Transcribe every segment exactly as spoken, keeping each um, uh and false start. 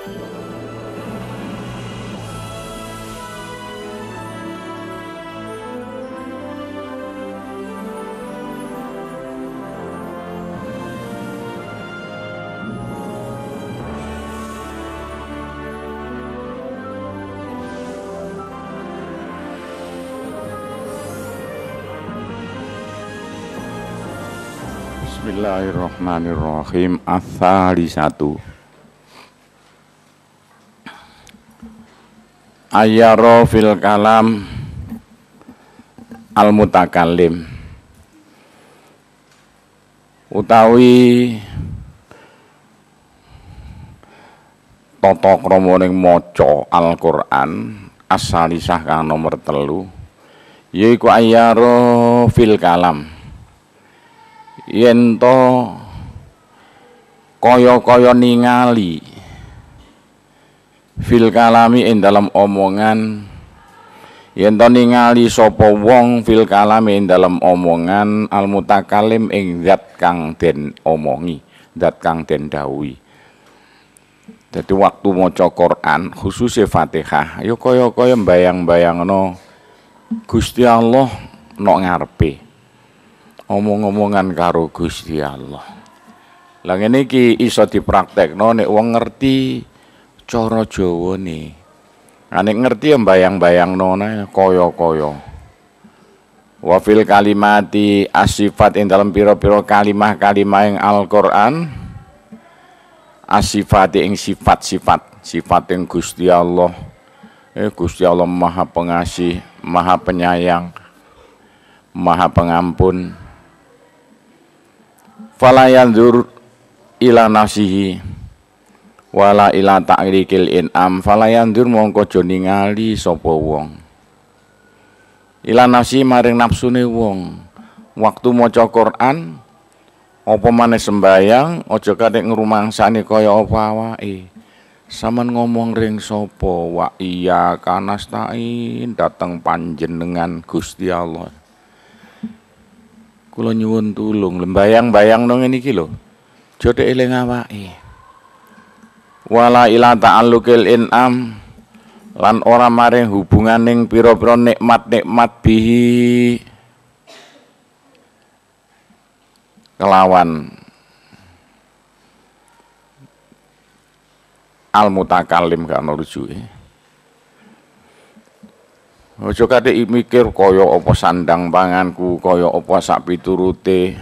Bismillahirrahmanirrahim. Ats-tsalisatu ayyara fil kalam al mutakallim utawi tata krama ning maca Al-Qur'an as-salisah kang nomor telu yaiku ayyara fil kalam yen to kaya-kaya ningali fil kalami ing dalem omongan yen to ningali sapa wong fil kalami ing dalem omongan al mutakallim ing zat kang den omongi, zat kang den dawuhi. Dadi waktu maca Quran khususe Fatihah ya kaya-kaya mbayang-bayangno Gusti Allah nok ngarepe, omong-omongan karo Gusti Allah. Lah ngene iki iso dipraktekno nek wong ngerti cara Jawane. Lah nek ngerti ya mbayang-bayangno kaya-kaya. Wa fil kalimati asifat ing dalem pira-pira kalimah-kalimah ing Al-Qur'an asifati ing sifat-sifat, sifat ing Gusti Allah. Eh Gusti Allah Maha Pengasih, Maha Penyayang, Maha Pengampun. Fala yanzur ila nafsihi wala ila ta'likil in'am. Fala yanzur mongko aja ningali sapa wong ila nafsi maring nafsune wong. Waktu maca Quran apa maneh sembayang aja katik ngrumangsani kaya apa awake. Saman ngomong ring sapa wa iya kanastain dateng panjenengan Gusti Allah. Kula nyuwun tulung, lembayang-bayang nang ngene iki lho. Aja eling awake. Wala ila ta'alluqil in'am lan ora maring hubunganing pira-pira nikmat-nikmat bihi kelawan al mutakallim gak ono rujuke. Aja katik mikir kaya apa sandang panganku, kaya apa sak piturute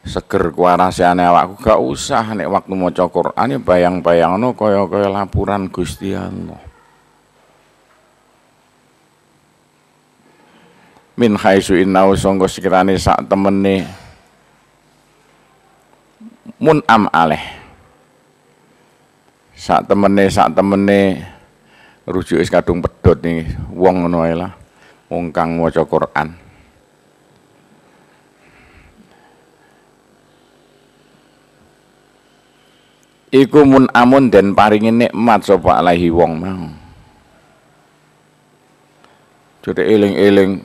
seger kuarasane awakku, gak usah. Nek waktu maca Quran ya bayang-bayangno kaya-kaya laporan Gusti Allah. Min haitsu innau sangka sekirane sak temene mun'am aleh. Sak temene sak temene rujuke kadung pedhot nih wong ngono ae lah, wong kang maca Quran. Iku mun amun den paringi nikmat sapa alaihi wong mau. Jadi eling-eling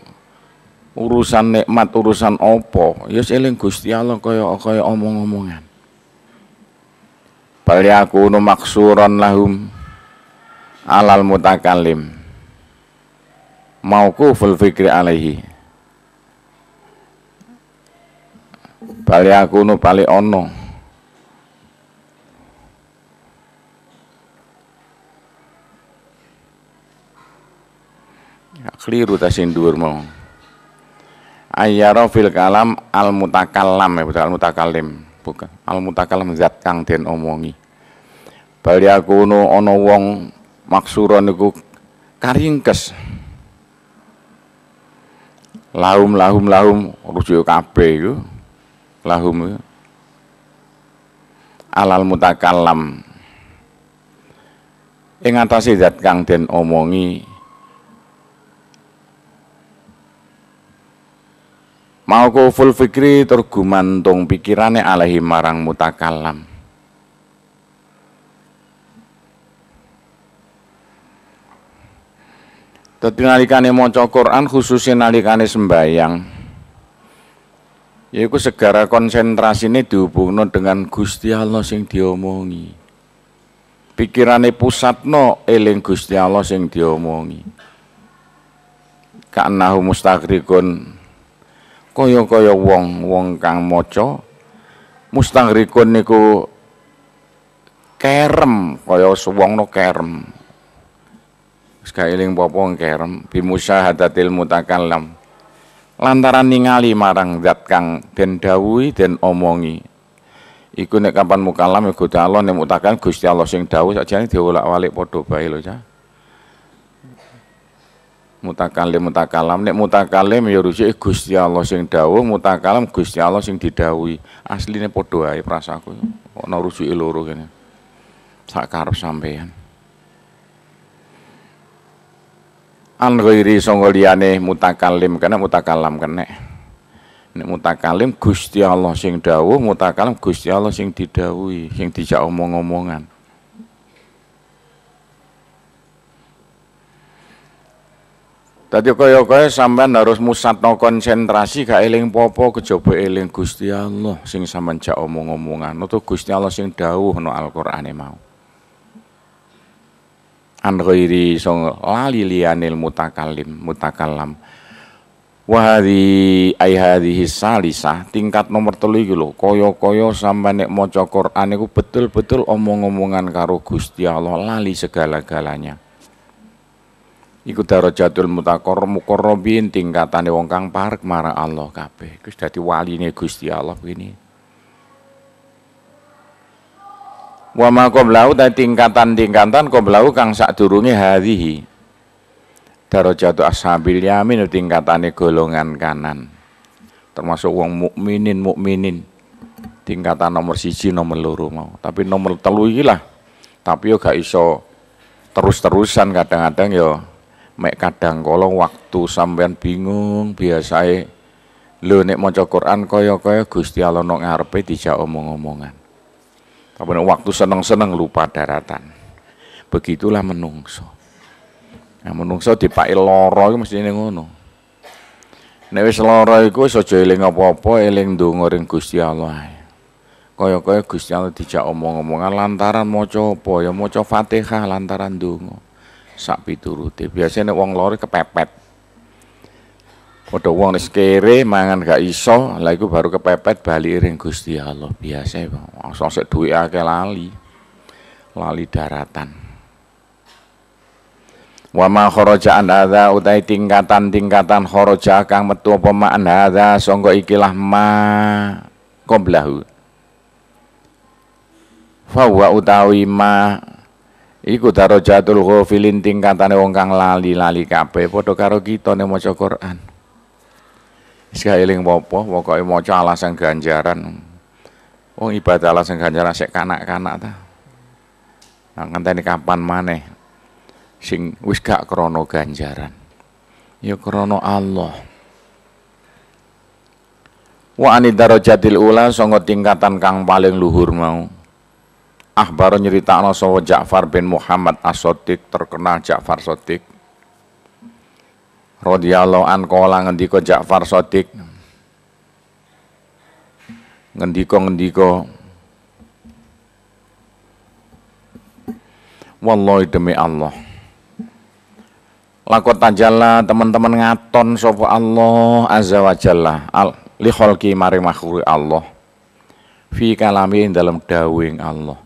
urusan nikmat urusan apa, ya eling Gusti Allah kaya kaya omong-omongan. Bal yakunu maksuran lahum alal mutakallim mauquful fikri alaihi. Bal yakunu bali ono ya, keliru ta sing dhuwur mau. Ayyara fil kalam al mutakallam ya, bukan al mutakallim, bukan al mutakallam zat kang den omongi. Bal yakunu ono wong maksuron niku karingkes. Lahum lahum lahum rujuk kabeh iku. Lahum iku alal mutakallam ing atase zat kang den omongi. Mauquful fikri tur gumantung pikirane alaihi marang mutakallam. Dadi nalikane maca Quran khususnya nalikane sembayang yaiku segara konsentrasine dihubungno dengan Gusti Allah sing diomongi. Pikirane pusatno eling Gusti Allah sing diomongi. Ka'annahu mustaghrikun kaya-kaya wong wong kang maca mustaghrikun niku kerem kaya wong no kerem. Wis gak eling apa-apa kerem bimusyahadatil mutakallam. Lantaran ningali marang zat kang den dawuhi den omongi. Iku nek kapan mukalam ya Gusti Allah, nek mutakallam Gusti Allah sing dawuh sakjane diolak-walik padha bae lho cah. Mutakalim mutakalam nek mutakalim ya rujuke Gusti Allah sing dawuh, mutakalam Gusti Allah sing didhawuhi. Asline padha ae prasaku. Ana rujuke loro kene. Sak karep sampean. An ghairi sangga liyane mutakalim kena mutakalam kena. Nek mutakalim Gusti Allah sing dawuh, mutakalam Gusti Allah sing didhawuhi, sing dijak omong-omongan. Dadi kaya-kaya sampean harus musatno konsentrasi gak eling popo kejaba eling Gusti Allah sing sampean jak omong-omongan utawa Gusti Allah sing dawuh no Al-Qur'ane mau. An ghairi sing lali liyanil mutakalim mutakalam. Wa hadhi ai hadhihi salisah tingkat nomor telu iki lho kaya-kaya sampean nek maca Qur'an iku betul-betul omong-omongan karo Gusti Allah lali segala-galanya. Iku darajatul mutaqarrib muqarrabin tingkatane wong kang parek marang Allah kabeh. Iku dadi waline Gusti Allah begini. Wa ma qablahu ta tingkatan-tingkatan qablahu kang sadurunge hadhihi. Darajatul ashabil yamin tingkatane golongan kanan. Termasuk wong mukminin mukminin. Tingkatan nomor siji nomor loro mau. Tapi nomor telu iki lah. Tapi yo gak iso terus-terusan kadang-kadang yo mek kadang kala waktu sampean bingung biasae lho nek maca Quran kaya-kaya Gusti Allah nang ngarepe dijak omong-omongan. Tapi nek waktu seneng-seneng lupa daratan. Begitulah menungso. Nah, menungso dipaki lara iku mestine ngono. Nek wis lara iku wis aja eling apa-apa, eling ndonga ring Gusti Allah ae. Kaya-kaya Gusti Allah dijak omong-omongan lantaran maca apa ya maca Fatihah lantaran ndonga. Sak piturute. Biasane nek wong lara kepepet. Padha wong wis kere mangan gak iso, lha iku baru kepepet bali ring Gusti Allah. Biasa langsung sik duwe akeh lali. Lali daratan. Wa ma kharaja an hadza utai tingkatan-tingkatan kharaja kang metu apa ma'an hadza sangka ikilah ma qablahu. Fa wa utawi ma iku darajatul ghafilin tingkatane wong kang lali-lali kabeh padha karo kita nek maca Quran. Wis gak eling apa-apa, pokoke maca alasan ganjaran. Wong ibadah alasan ganjaran sik kanak-kanak ta. Nah, ngenteni kapan maneh sing wis gak krana ganjaran. Ya krana Allah. Wa ani darajatil ula sanga tingkatan kang paling luhur mau. Akhbar nyeritakno sapa Ja'far bin Muhammad As-Shadiq, terkenal Ja'far Shadiq. Radhiyallahu an kala ngendika Ja'far Shadiq. Ngendika-ngendika wallahi demi Allah. Lakot tajalla teman-teman ngaton sapa Allah azza wa jalla al li khalqi maring makhluk Allah. Fi kalami dalam dawuhing Allah.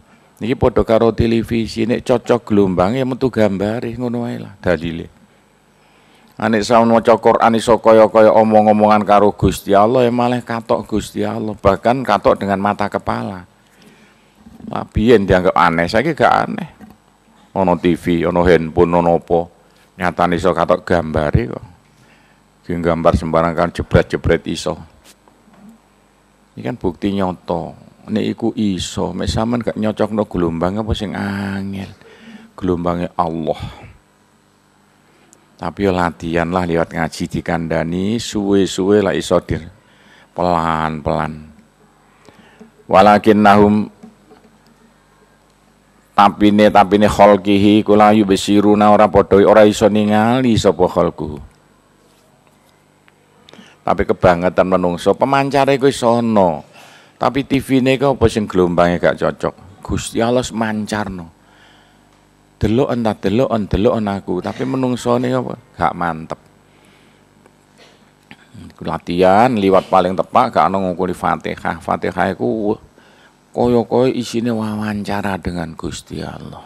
Niki padha karo televisi nek cocok gelombang ya metu gambare ngono wae lah dalile. Nek saun maca Quran iso kaya-kaya omong-omongan karo Gusti Allah ya malah katok Gusti Allah, bahkan katok dengan mata kepala. Lah biyen dianggap aneh, saiki gak aneh. Ono T V, ono handphone, ono apa, nyatane iso katok gambare kok. Ki gambar sembarang kan jebret-jebret iso. Ini kan bukti nyata. Nek iku iso, mek sampean gak nyocokno gelombang apa sing angel. Gelombange Allah. Tapi yo latihan lah lewat ngaji dikandani suwe-suwe lah iso dir pelan-pelan. Walakinnahum tapine tapine khalqihi kula yubsiruna ora padha ora iso ningali sapa khalqu. Tapi kebangetan menungso pemancare iku iso ana. Tapi T V-ne iku apa sing gelombange gak cocok. Gusti Allah mancarno. Deloken ta deloken deloken aku, tapi menungsone apa gak mantep. Latihan liwat paling tepak gak ono ngukuli Fatihah. Fatihah iku kaya-kaya isine wawancara dengan Gusti Allah.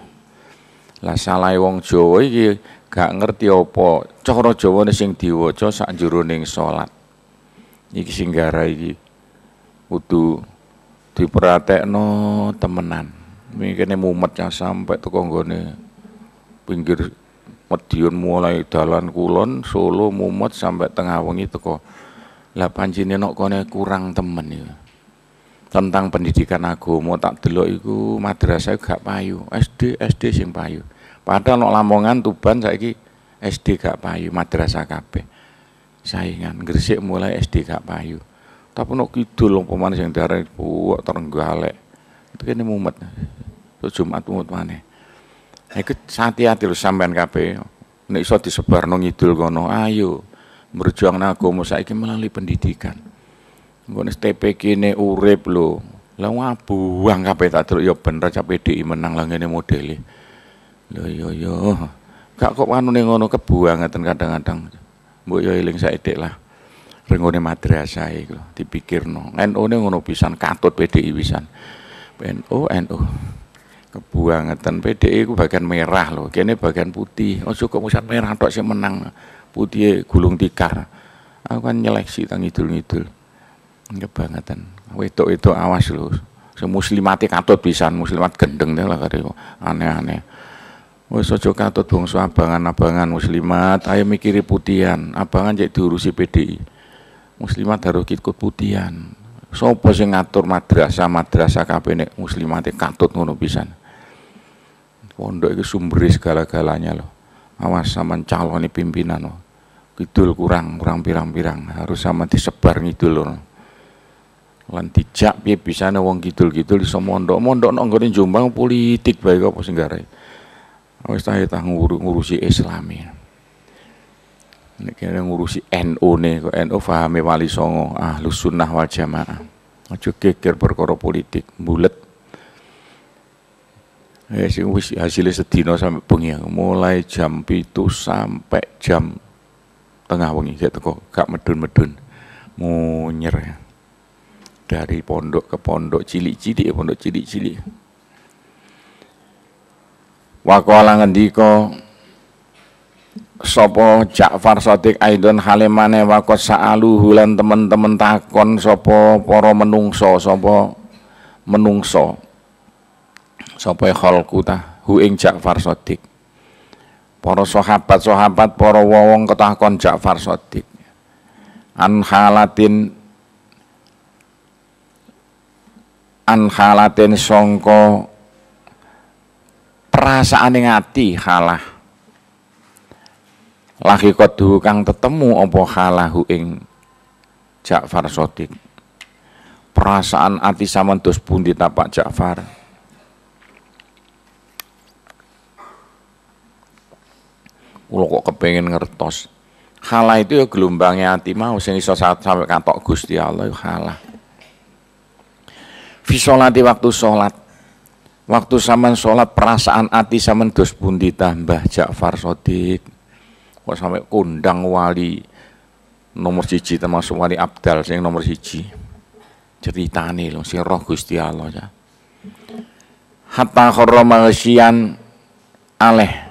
Lah salahe wong Jawa iki gak ngerti apa cara Jawane sing diwaca sak jroning salat. Iki sing gara iki kudu diperhatekno temenan. Mikirne mumet ya sampai teko nggone pinggir Madiun mulai dalan kulon Solo mumet sampai tengah wengi teko. Lah pancine nok kone kurang temen iki. Tentang pendidikan agama tak delok iku madrasah gak payu, S D S D sing payu. Padahal nok Lamongan Tuban saiki S D gak payu, madrasah kabeh. Saingan Gresik mulai S D gak payu. Tapi nok kidul umpamane sing diarani buwak Trenggalek. Itu kene mumet. Terus Jumat mumet maneh. Iku hati-hati lho sampean kabeh. Nek iso disebarno ngidul kono, ayo berjuang agama saiki melalui pendidikan. Engko nek T P K-ne urip lho. Lah ngabuang kabeh tak delok ya bener cah P D I menang lah ngene modele. Lho yo yo. Gak kok anune ngono kebuangeten kadang-kadang. Mbok yo eling saithik lah. Rengone madrasah iku dipikirno. N U-ne ngono pisan katut P D I pisan. N U N U. Kebuangeten P D I ku bagian merah lho, kene bagian putih. Ojo kok musan merah tok sing menang. Putih gulung tikar. Aku kan nyeleksi tang ngidul-ngidul. Kebangetan. Wedok-wedok awas lho. Sing muslimate katut pisan, muslimat gendeng lah kare aneh-aneh. Wis aja katut bangsa abangan-abangan muslimat, ayo mikiri putihan. Abangan cek diurusi P D I. Muslimat harus ikut putihan. Sopo sing ngatur madrasah, madrasah kabeh nek muslimate katut ngono pisan. Pondok itu sumber segala-galanya loh. Awas sama calon pimpinan loh. Kidul kurang, kurang pirang-pirang. Harus sama disebar ngidul loh. Lan dijak piye bisane wong kidul-kidul iso mondok. Mondok nek nggone Jombang politik bae apa sing gawe. Wis ta ta ngurusi Islami. Nek kene ngurusi N U ne kok N U fahame Wali Songo, Ahlus Sunnah wal Jamaah. Aja geger perkara politik, bulet. Eh sing wis hasilnya sedina sampai bengi, mulai jam pitu sampai jam tengah wengi gak teko, gak medun-medun. Munyer. Dari pondok ke pondok cilik-cilik, pondok cilik-cilik. Waqala ngendika sapa Ja'far Shadiq aidon halimane waqat sa'aluhu lan temen-temen takon sapa para menungso, sapa menungso. Sapa khalqu ta hu ing Ja'far Shadiq. Para sahabat-sahabat, para wong ketakon Ja'far Shadiq. An halatin an halatin sangka perasaane ati halah. Lahiqatu kang tetemu apa halahu ing Ja'far Shadiq. Perasaan ati sampean dos pundi ta Pak Ja'far? Kula kok kepengin ngertos. Halah itu ya gelombangnya ati mau sing iso sampai katok Gusti Allah ya halah. Fi sholati waktu sholat. Waktu sampean sholat perasaan ati sampean dos pundi ta Mbah Ja'far Shadiq? Kok sampai kondang wali nomor siji termasuk wali abdal sing nomor siji. Ceritane lho sing roh Gusti Allah ya. Hatta kharra maghsyian aleh.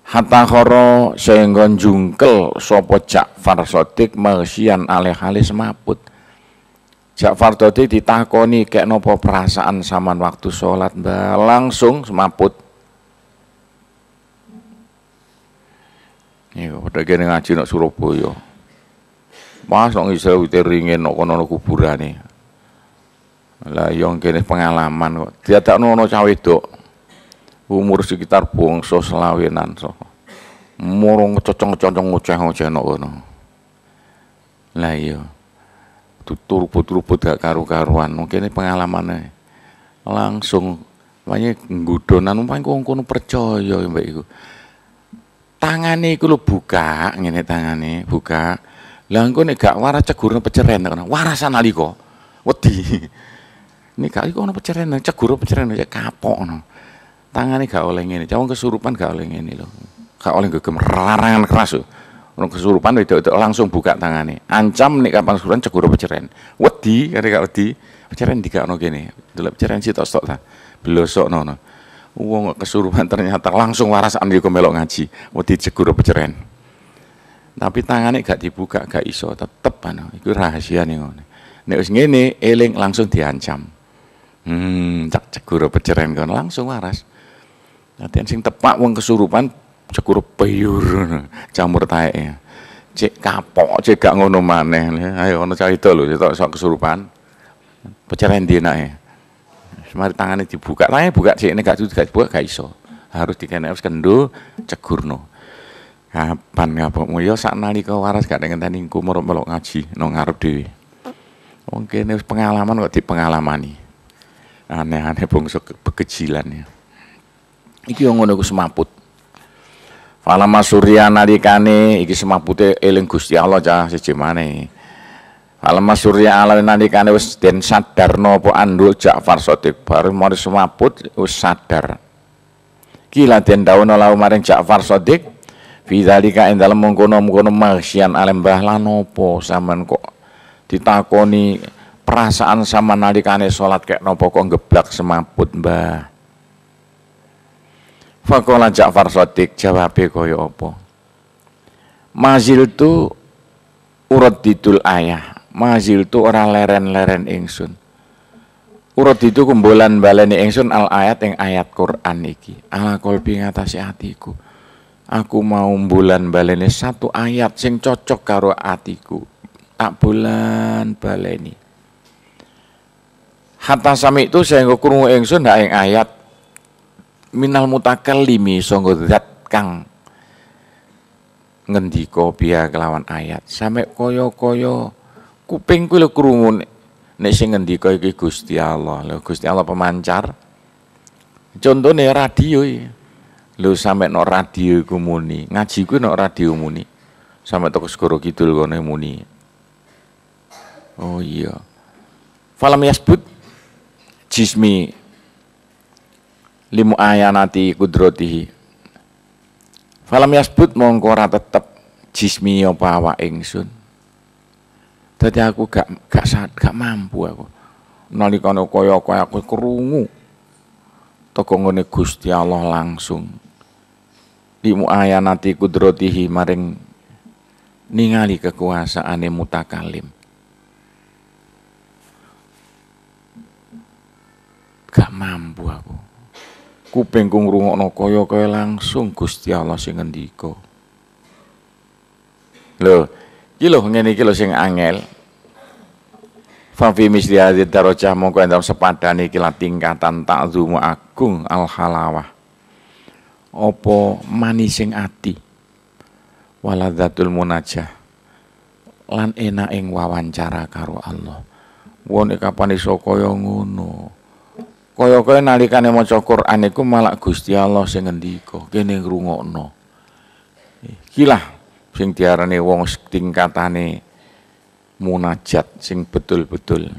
Hatta khara sehingga jungkel sapa Ja'far Shadiq maghsyian aleh hale semaput. Ja'far Shadiq ditakoni kek napa perasaan sampean waktu sholat Mbah, langsung semaput. Iku padha kene ngaji nek Surabaya. Mas nek ngisor wite ringin nek kono ana kuburane. Lah yo kene pengalaman kok. Diadakno ana cah wedok. Umur sekitar bangsa selawenan so. Murung cocong-cocong ngoceh-ngoceh nek kono. Lah iya. Tuturubut-rubut gak karu-karuan. Mungkin pengalamane langsung makanya nggudonan umpamane wong kono percaya mbek iku. Tangane iku lho buka, ngene tangane buka. Lah engko nek gak waras cegurne peceren kono. Warasan nalika wedi. Nek gak iku ono peceren, cegur peceren ya kapok ngono. Tangane gak oleh ngene. Cah wong kesurupan gak oleh ngene lho. Gak oleh gegem larangan keras lho. Wong kesurupan wedok-wedok langsung buka tangane. Ancam nek kapan kesurupan cegur peceren. Wedi kare gak wedi. Peceren digakno kene. Delok peceren sitok-sitok ta. Blosokno no. Wong kesurupan ternyata langsung waras andi kok melok ngaji. Wedi cegur peceren. Tapi tangane gak dibuka, gak iso, tetep anu. Iku rahasiane ngono. Nek wis ngene eling langsung diancam. Hmm, cak cegur peceren kono langsung waras. Latihan sing tepak wong kesurupan cegur peyur jamur taeke. Cek kapok, cek gak ngono maneh. Ayo ono cah itu lho, sitok sok kesurupan. Peceren ndi enake. Semari tangane dibuka, tangane buka cek nek gak gak dibuka gak iso. Harus dikene wis kendo cegurno. Kapan ngapokmu ya sak nalika waras gak ngenteni engko melok ngaji nang ngarep dhewe. Wong kene wis pengalaman kok dipengalamani. Aneh-aneh bangsa bekejilan ya. Iki yo ngono iku semaput. Falama surya nalikane iki semapute eling Gusti Allah cah siji maneh. Falama surya ala nalikane wis den sadarno apa andul Ja'far Shadiq baru mari semaput wis sadar. Kila den dawuhna lahu maring Ja'far Shadiq fi dzalika ing dalem mengkono-mengkono maksian alem mbah lan opo sampean kok ditakoni perasaan sama nalikane salat kek napa kok ngeblak semaput mbah. Faqala Ja'far Shadiq jawabe kaya apa? Mazil tu uradidul ayah, mazil tu ora leren-leren ingsun. Uradidu kumbolan baleni ingsun al ayat ing ayat Quran iki. Ala qalbi ngatasi atiku. Aku mau mbulan baleni satu ayat sing cocok karo atiku. Tak bulan baleni. Hatta sami itu sehingga krungu ingsun hak ing ayat minal mutakallimi sangga zat kang ngendika biya kelawan ayat sampe kaya-kaya kupingku lho krungu nek sing ngendika iki Gusti Allah. Lho Gusti Allah pemancar. Contone radio iki. Lho sampe nok radio iku muni, ngaji ku nok radio muni. Sampe teko Segoro Kidul kono muni. Oh iya. Falam yasbut jismi limu ayanati kudrotihi. Falam yasbut mongko ora tetep jismi apa awak ingsun. Dadi aku gak gak gak mampu aku. Nalikane kaya-kaya aku krungu teko ngene Gusti Allah langsung. Limu ayanati kudrotihi maring ningali kekuasaane mutakalim. Gak mampu aku. Kupingku ngrungokno kaya-kaya langsung Gusti Allah sing ngendika. Lho, iki lho ngene iki lho sing angel. Fa fi misli hadhihi darajah mongko ing dalem sepadane iki lan tingkatan ta'zumu agung al halawah. Apa manising ati waladzatul munajah lan enak ing wawancara karo Allah. Wong kapan iso kaya ngono. Kaya-kaya nalikane maca Quran iku malah Gusti Allah sing ngendika, kene ngrungokno. Iki lah sing diarani wong tingkatane munajat sing betul-betul.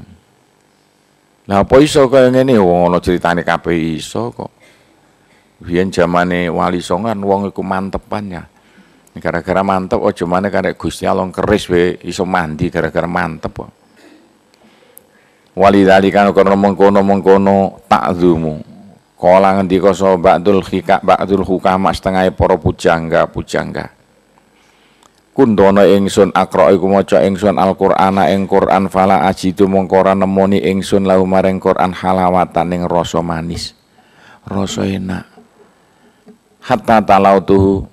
Lah apa iso kaya ngene wong ana critane kabeh iso kok. Biyen jamane Wali Songo kan wong iku mantepan ya. Gara-gara mantep aja maneh karek Gusti Allah keris wae iso mandi gara-gara mantep kok. Walidzalika karena mengkono-mengkono takzumu. Kala ngendika sapa ba'dul hika ba'dul hukama setengahe para pujangga-pujangga. Kundono ingsun akra iku maca ingsun Al-Qur'ana ing Qur'an fala ajidu mongko ora nemoni ingsun lahu maring Qur'an halawatan ing rasa manis. Rasa enak. Hatta talautuhu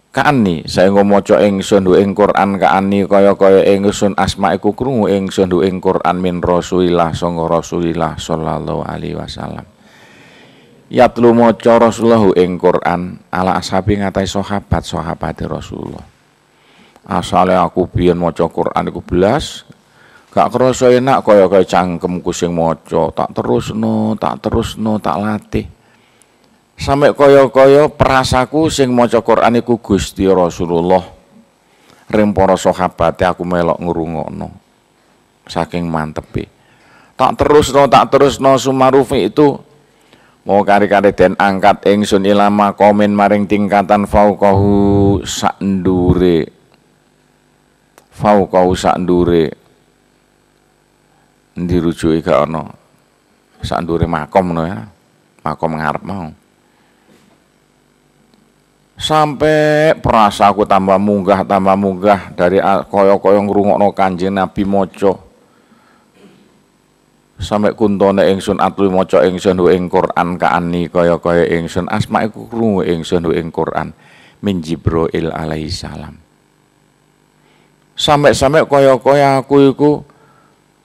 kaani saengga maca ingsun ing Quran kaani kaya-kaya ingsun asma iku krungu ingsun ing Quran min Rasulillah sanga Rasulillah sallallahu alaihi wasallam. Yatlu maca Rasulullah ing Quran ala ashabi ngatai sahabat sahabate Rasulullah. Asale aku biyen maca Quran iku blas gak krasa enak kaya-kaya cangkemku sing maca, tak terusno, tak terusno, tak latih. Sampai kaya-kaya perasaku sing maca Quran iku Gusti Rasulullah. Ring para sahabate aku melok ngrungokno. Saking mantepe. Tak terusno, tak terusno sumarufi itu Mau kari-kari den angkat ingsun ila maqamin maring tingkatan fauqahu sak ndure. Fauqahu sak ndure. Endi rujuke gak ana. Sak ndure makom ngono ya. Makom ngarep mau. Sampai perasa aku tambah munggah tambah munggah dari kaya-kaya ngrungokno Kanjeng Nabi maca. Sampai kuntone ingsun atlu maca ingsun ing Quran kaani kaya-kaya ingsun asma iku krungu ingsun ing Quran min Jibril alaihi salam. Sampai-sampai kaya-kaya aku iku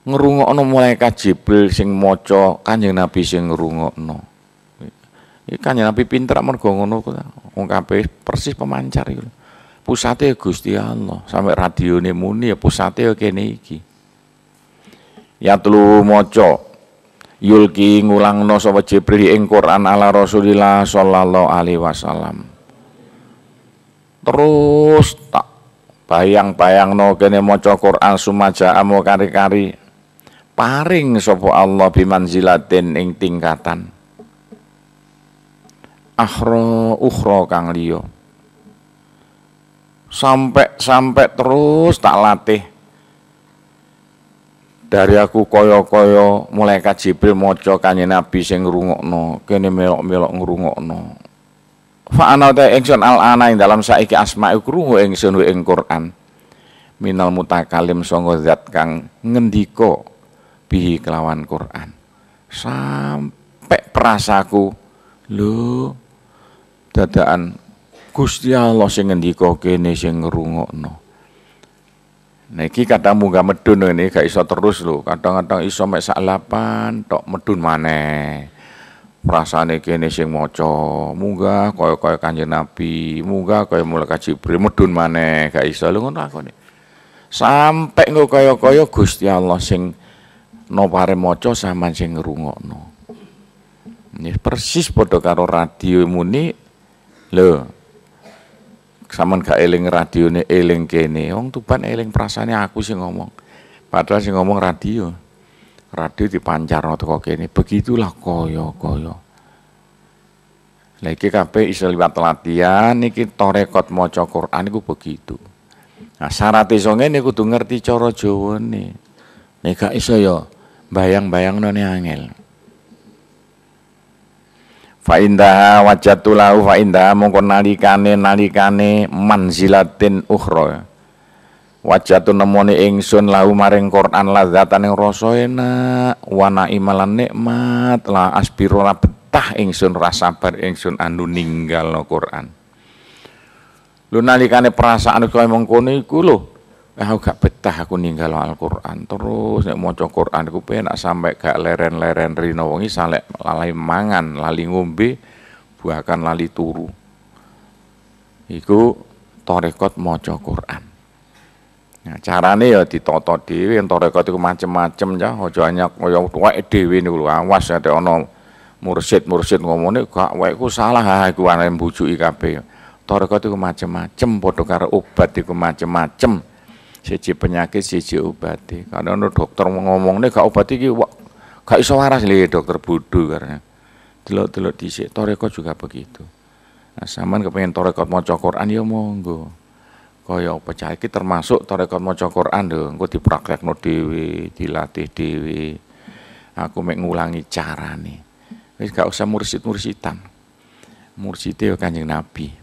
ngrungokno malaikat Jibril sing maca, Kanjeng Nabi sing ngrungokno. Iki Kanjeng Nabi pinter mergo ngono wong kabeh persis pemancar iku. Pusate Gusti Allah, sampai radione muni ya pusate ya kene iki. Ya telu maca yulki ngulangno sapa Jibril ing Quran ala Rasulillah sallallahu alaihi wasallam. Terus tak bayang-bayangno kene maca Quran sumaja amo kari-kari paring sapa Allah bimanzilatin ing tingkatan akhra ukhra kang liya. Sampai-sampai terus tak latih dari aku kaya-kaya malaikat Jibril maca Kanjeng Nabi sing ngrungokno, kene melok-melok ngrungokno. Fa ana ta ingsun al-ana ing dalam saiki asma iku krungu ingsun ing Quran. Minal mutakalim sanga zat kang ngendika bihi kelawan Quran. Sampai perasaku lho dadakan Gusti Allah sing ngendika kene sing ngrungokno. Nah iki kadang munggah medun ngene gak iso terus lho, kadang-kadang iso mek sak lapan tok medun maneh. Rasane kene sing maca, munggah kaya-kaya Kanjeng Nabi, munggah kaya malaikat Jibril medun maneh, gak iso lho ngono akone. Sampai engko kaya-kaya Gusti Allah sing nopare maca sampean sing ngrungokno. Ini persis padha karo radio muni lho. Sampeyan gak eling radione eling kene. Wong Tuban eling prasane aku sing ngomong. Padahal sing ngomong radio. Radio dipancarno teko kene. Begitulah kaya-kaya. Lah iki kabeh iso liwat latihan iki tarekat maca Quran iku begitu. Nah syarat iso ngene kudu ngerti cara Jawane. Nek gak iso ya bayang-bayangno ne angel. Fa indaha wajatu lahu fa indaha mongko nalikane nalikane manzilatin ukhra. Wajatu nemoni ingsun lahu maring Quran ladzatan ing rasa enak wa naimalan nikmat la asbiru la betah ingsun ra sabar ingsun anu ninggalno Quran. Lho nalikane perasaan kaya mengkono iku lho, aku gak betah aku ninggal Al-Qur'an. Terus nek maca Qur'an iku penak sampai gak leren-leren rino wengi salek lali mangan, lali ngombe, bahkan lali turu. Iku tarekat maca Qur'an. Nah, carane ya ditata dhewe, tarekat iku macem-macem ya, aja hanya kaya tuweke dhewe niku lho, awas nek ana mursyid-mursyid ngomongane gak wae iku salah, ha iku arep mbujuki kabeh. Tarekat iku macem-macem padha karo obat iku macem-macem. Siji penyakit siji obate. Karena ono dokter ngomongne gak obat iki gak iso waras lho dokter bodho karena. Delok-delok dhisik tarekat juga begitu. Nah, sampean kepengin tarekat maca Quran ya monggo. Kaya apa cah iki termasuk tarekat maca Quran lho, engko dipraktekno dhewe, dilatih dhewe. Aku mek ngulangi carane. Wis gak usah mursyid-mursidan. Mursyide ya Kanjeng Nabi.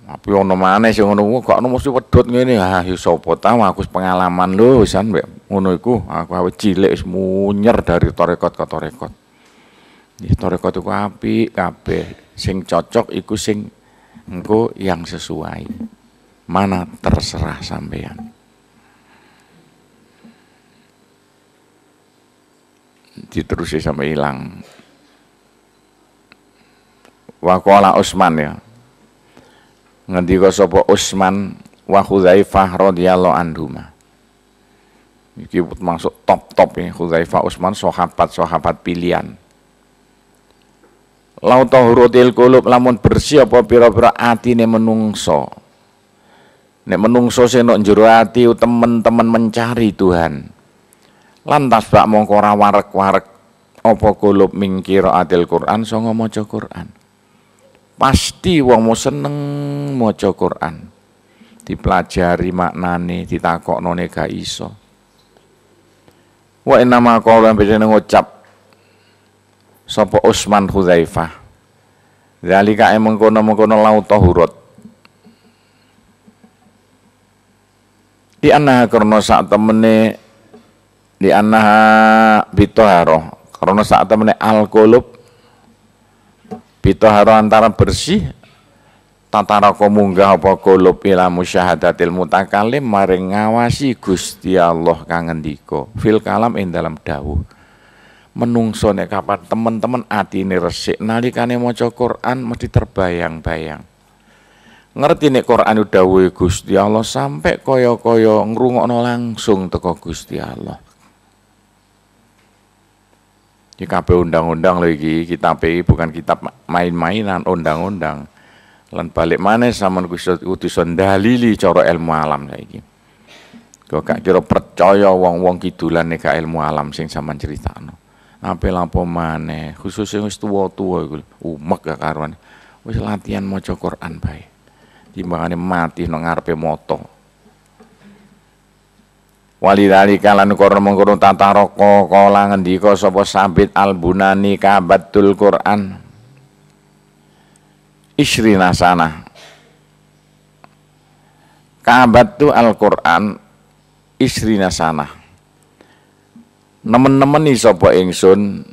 Tapi ono maneh sing ngono gak ono mesti wedhut ngene. Ah ya sapa tau aku pengalaman lho wisan mbek ngono iku. Aku awit cilik wis munyer dari tarekat ke tarekat. Iki tarekat iku apik kabeh. Sing cocok iku sing engko yang sesuai. Mana terserah sampean. Diterusi sampai hilang. Waqala Utsman ya. Ngendika sapa Utsman wa Hudzaifah radhiyallahu anhuma. Iki masuk top-top ya Hudzaifah Utsman sahabat-sahabat pilihan. Lau tahurutil qulub lamun bersih apa pira-pira atine menungso. Nek menungso sing nok jero ati temen-temen mencari Tuhan. Lantas bak mongko ora warek-warek apa kulub min qiraatil Quran sanga maca Quran. Pasti wong mau seneng maca Quran. Dipelajari maknane, ditakoknone gak iso. Wa inna ma qala bedene ngucap sapa Utsman Hudzaifah. Zalika mengkono-mengkono lau tahurat. Di annaha karena sak temene di annaha bitoharoh karena sak temene al-qulub bitoharoh antara bersih tataraka munggah apa qulub ila musyahadatil mutakalim maring ngawasi Gusti Allah kang ngendika fil kalam ing dalam dawuh. Menungso nek kapan temen-temen atine resik nalikane maca Quran mesti terbayang-bayang. Ngerti nek Quran dawuhe Gusti Allah sampai kaya-kaya ngrungokno langsung teko Gusti Allah. Iki kabeh undang-undang lho iki, kitab iki bukan kitab main-mainan, undang-undang. Lan balik maneh sampean kudu iso ndalili cara ilmu alam saiki. Kok gak kira percaya wong-wong kidulan nek gak ilmu alam sing sampean critakno. Ape lapo maneh, khusus sing wis tuwa-tuwa iku umek gak karuan. Wis latihan maca Quran bae. Timbangane mati nang ngarepe mata. Walidhalika lan kono mengkono tataraka kala ngendika sapa Sabit Al-Bunani kabatul Quran isrina sana. Kabatu Al-Quran isrina sana. Nemen-nemeni sapa ingsun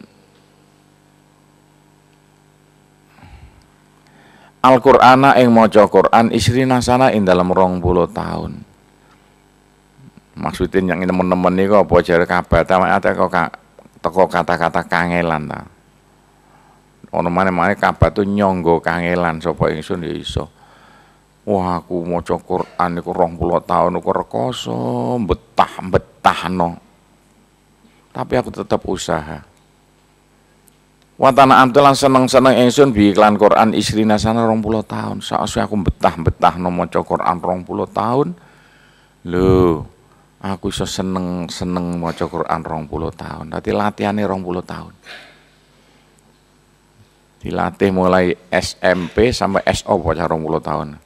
Al-Qur'ana ing maca Qur'an isrina sana ing dalem rong puluh tahun. Maksudnya yang nemen-nemen niku apa jare kabata teko teko kata-kata kangelan ta. Ono maneh-maneh kabatu nyangga kangelan sapa ingsun ya iso. Wah aku maca Qur'an niku rong puluh tahun niku rekoso betah-betahno. Tapi aku tetap usaha. Watana amtulan seneng-seneng ingsun bi iklan Quran isrina sana rong puluh tahun. Sakwise aku betah-betahno maca Quran rong puluh tahun. Lho, aku iso seneng-seneng maca Quran rong puluh tahun. Dadi latihane rong puluh tahun. Dilatih mulai S M P sampai S O bocah rong puluh tahun.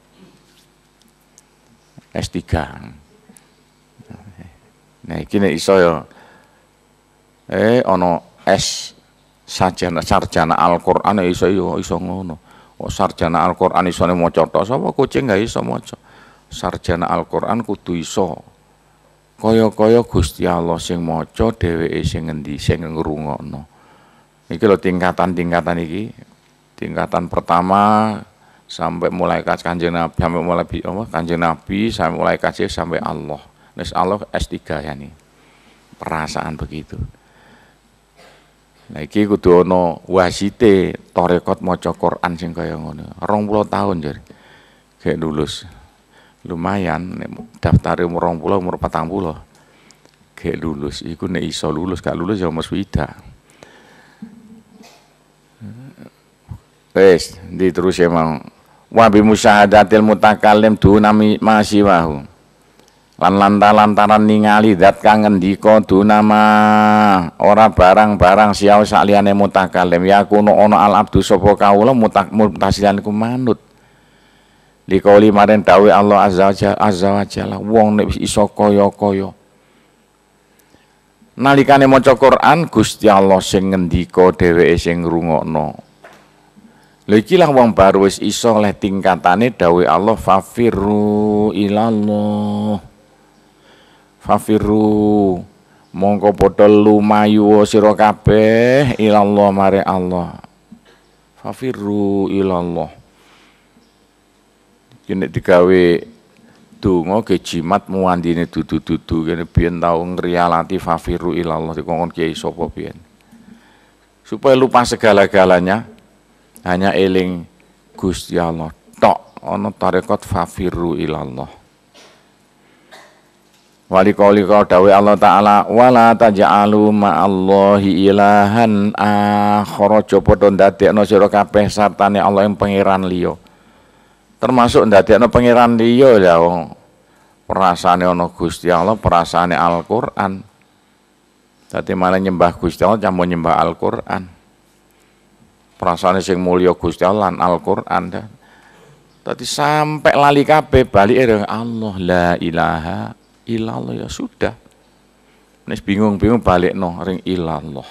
S tiga. Nah, iki nek iso ya. Eh ana S sarjana sarjana Al-Qur'an iso yo iso ngono. Oh, sarjana Al-Qur'an isone maca tok sapa kucing gak iso maca. Sarjana Al-Qur'an kudu iso. Kaya-kaya Gusti Allah sing maca dheweke sing ngendi sing ngrungokno. Iki lho tingkatan-tingkatan iki. Tingkatan pertama sampai mulai Kanjeng Nabi, sampai mulai apa Kanjeng Nabi, sampai mulai kasih sampai Allah. Wis Allah S tiga ya nih. Perasaan begitu. Nah iki kudu ana wasite tarekat maca Quran sing kaya ngono. rong puluh tahun jare. Gek lulus. Lumayan nek daftare umur rong puluh umur patang puluh. Gek lulus iku nek iso lulus, gak lulus ya umur swidak. Wis, diterus emang wa bi musyahadatil mutakallim duna masiwahu. Lan lantaran ningali zat kang ngendika dunama ora barang-barang siau sakliyane mutakalim ya kuno ana al abdu sapa kawula mutasilan iku manut dikauli maring dawuh Allah azza wa azza wa jalla wong nek wis iso kaya-kaya nalikane maca Quran Gusti Allah sing ngendika dheweke sing ngrungokno. Lha iki lah wong baru wis iso oleh tingkatane dawuh Allah fafirru ilallah. Fafiru mongko padha lumayu sira kabeh ilallah mare Allah. Fafiru ilallah. Iki nek digawe donga ge jimat muandine dudu-dudu kene biyen tau ngrialati fafiru ilallah dikongkon kiai sapa biyen. Supaya lupa segala-galanya hanya eling Gusti Allah tok ana tarekat fafiru ilallah. Wali qauli dawuh Allah Ta'ala wala taj'alu ma'allahi ilahan akhara aja padha ndadekno sira kabeh sartane Allah ing pangeran liya. Termasuk ndadekno pangeran liya ya wong perasaane ana Gusti Allah, perasaane Al-Qur'an. Dadi malah nyembah Gusti Allah campur nyembah Al-Qur'an. Perasaane sing mulya Gusti Allah lan Al-Qur'an. Dadi sampai lali kabeh balik ring Allah la ilaha illallah ya sudah. Nek bingung-bingung balikno ring ilallah.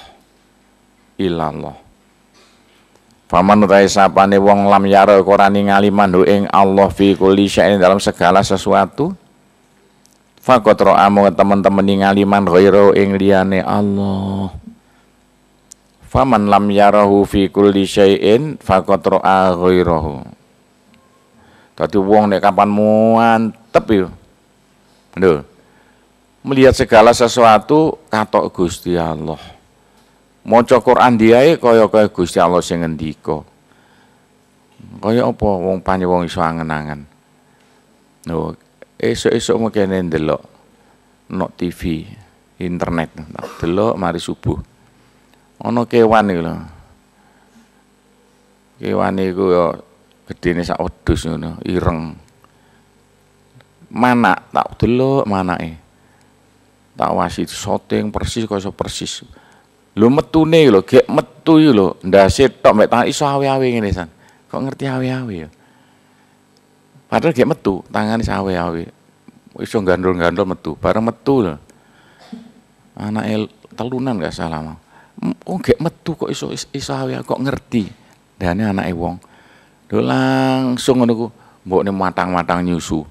Ilallah. Faman utahe sapane wong lam yara ora ningali mandu ing Allah fi kulli syai'in dalam segala sesuatu. Faqat ra'amu teman-teman ningali man ghairu ing liyane Allah. Faman lam yarahu fi kulli syai'in faqad ra'a ghairahu. Dadi wong nek kapan mantep yo. Lho. Melihat segala sesuatu katok Gusti Allah. Maca Quran diae kaya-kaya Gusti Allah sing ngendika. Kaya apa wong panye wong iso angen-angen. Lho, esuk-esuk mekene ndelok nok T V, internet, tak delok mari subuh. Ana kewan iku lho. Kewan iku ya gedene sak wedhus ngono, ireng. Manak tak delok manake. Tak wasi syuting persis kaya persis. Lho metune lho, gek metu iki lho, ndase tok mek tangan iso awe-awe ngene san. Kok ngerti awe-awe ya? Padahal gek metu, tangane awe-awe. Iso gandol-gandol metu, bareng metu lho. Anake telunan gak salah mau. Oh gek metu kok iso iso awe kok ngerti. Dane anake wong. Lho langsung ngono ku, mbokne matang-matang nyusu.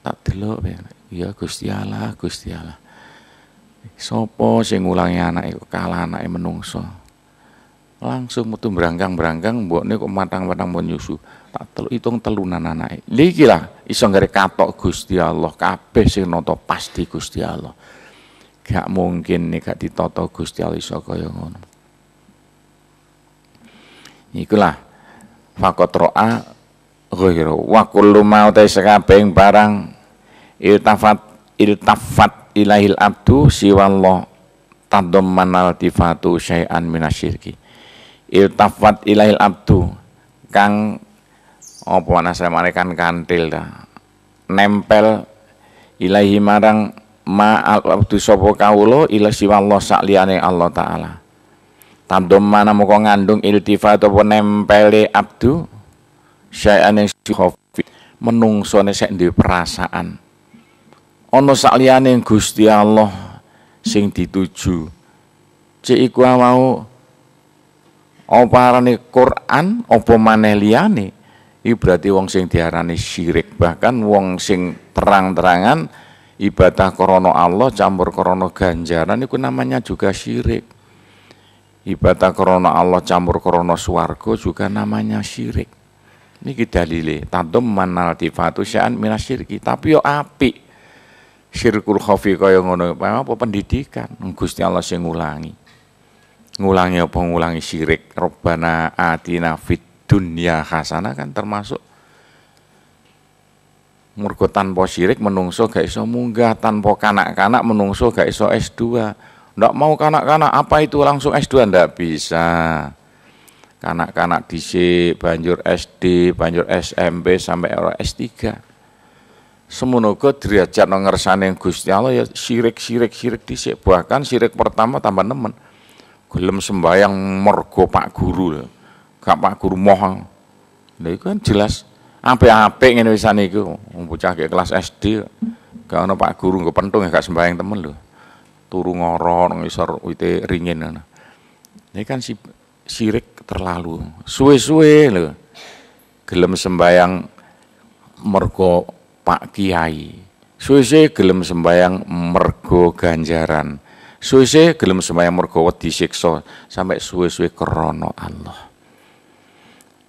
Tak delok ya Gusti Allah, Gusti Allah. Sopo sing ngulangi anake kok kalah anake menungso. Langsung metu brangkang-brangkang mbokne kok matang-matang mau nyusu. Tak telu hitung telunan anake. Lha iki lah iso nggare katok Gusti Allah, kabeh sing nata pasti Gusti Allah. Gak mungkin nek gak ditata Gusti Allah iso kaya ngono. Ikulah faqat ra'a ghairu wa kullu ma uta sakabehing barang iltafat iltafat ilahil abdu siwallah tadammanal tifatu syai'an minasyirki. Iltafat ilahil abdu kang apa anasane kan kantil ta nempel ilahi marang ma al abdu sapa kawula ila siwallah sakliyane Allah taala. Tadammana moko ngandung iltifat apa nempele abdu syai'an ing khofi menungsone sek duwe perasaan ana sakliyane Gusti Allah sing dituju. Cek iku mau apa arane Quran apa maneh liyane iki berarti wong sing diarani syirik, bahkan wong sing terang-terangan ibadah krana Allah campur krana ganjaran iku namanya juga syirik. Ibadah krana Allah campur krana swarga juga namanya syirik. Niki dalile tadammanal tifatu sya'an minasyirki, tapi yo apik. Syirkul khafi kaya ngono apa pendidikan Gusti Allah sing ngulangi. Ngulangi apa ngulangi syirik. Robbana atina fid dunya hasanah kan termasuk mergo tanpa syirik menungso gak iso munggah, tanpa kanak-kanak menungso gak iso S dua. Ndak mau kanak-kanak apa itu langsung S dua ndak bisa. Kanak-kanak dhisik banjur S D, banjur S M P sampai S tiga. Semono uga derajat ngersane Gusti Allah ya syirik-syirik syirik dhisik, bahkan syirik pertama tambah nemen. Gelem sembayang mergo Pak Guru lho. Gak Pak Guru moh. Lha iku kan jelas apik-apik ngene wisan iku. Wong bocah ke kelas S D gak ono Pak Guru nggo pentung gak sembayang temen lho. Turu ngorok nang isor wite ringin ngono. Ini kan si syirik terlalu. Suwe-suwe lho. Gelem sembayang mergo Pak Kiai. Suwe-suwe gelem sembayang mergo ganjaran. Suwe-suwe gelem sembayang mergo wedi siksa, sampai suwe-suwe krana Allah.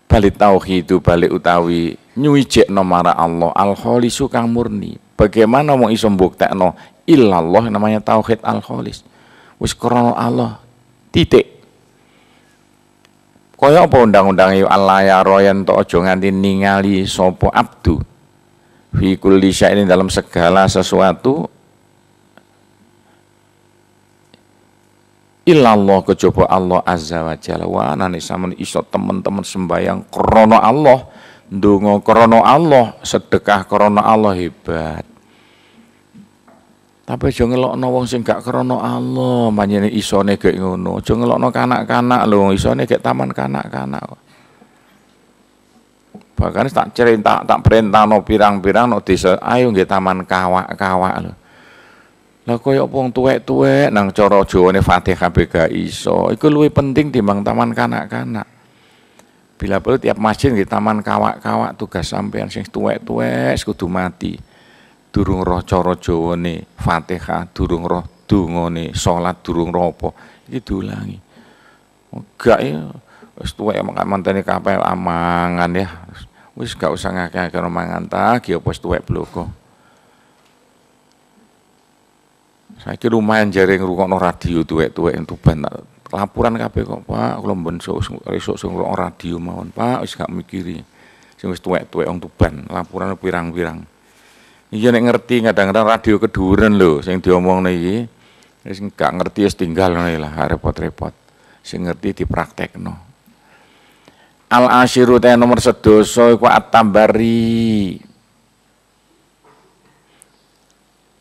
Balik tauhid balik utawi nyuwijekno marang Allah al-khalisu kang murni. Bagaimana wong iso mbuktekno illallah namanya tauhid al-khalis. Wis krana Allah titik. Kaya apa undang-undange Allah ya royen to aja nganti ningali sapa abdu fi kulli syai'in dalam segala sesuatu illallah kejaba Allah azza wa jalla. Wa anane sampeyan iso temen-temen sembayang krana Allah, ndonga krana Allah, sedekah krana Allah, hebat. Tapi aja ngelokno wong sing gak krana Allah, panjenengan isone gek ngono. Aja ngelokno kanak-kanak lho, isone gek taman kanak-kanak kok. Bahkan tak cerita, tak perintahno pirang-pirang no desa, ayo nggih taman kawak-kawak lho. Lah koyo wong tuwek-tuwek nang cara Jawane Fatihah kabeh gak iso. Iku luwih penting timbang taman kanak-kanak. Bila perlu tiap masjid nggih taman kawak-kawak tugas sampean sing tuwek-tuwek kudu mati. Durung roh cara Jawane Fatihah, durung roh dungane salat, durung roh apa. Iki diulangi. Gak ya wis tuwek mantene kabeh amangan ya. Wis gak usah ngakeh-akeh mangan ta, ki apa wis tuwek bloko. Saiki lumayan jare ngrungokno radio tuwek-tuwek Tuban laporan kabeh kok, Pak, kula mben esuk sing ngrungokno radio mawon, Pak, wis gak mikiri. Sing wis tuwek-tuwek wong Tuban, laporan pirang-pirang. Iya nek ngerti kadang-kadang radio keduren lho sing diomongno iki. Wis gak ngerti wis tinggal ngono lah, repot-repot. Sing ngerti dipraktekno. Al asyiru te nomor sedoso iku at-tambari.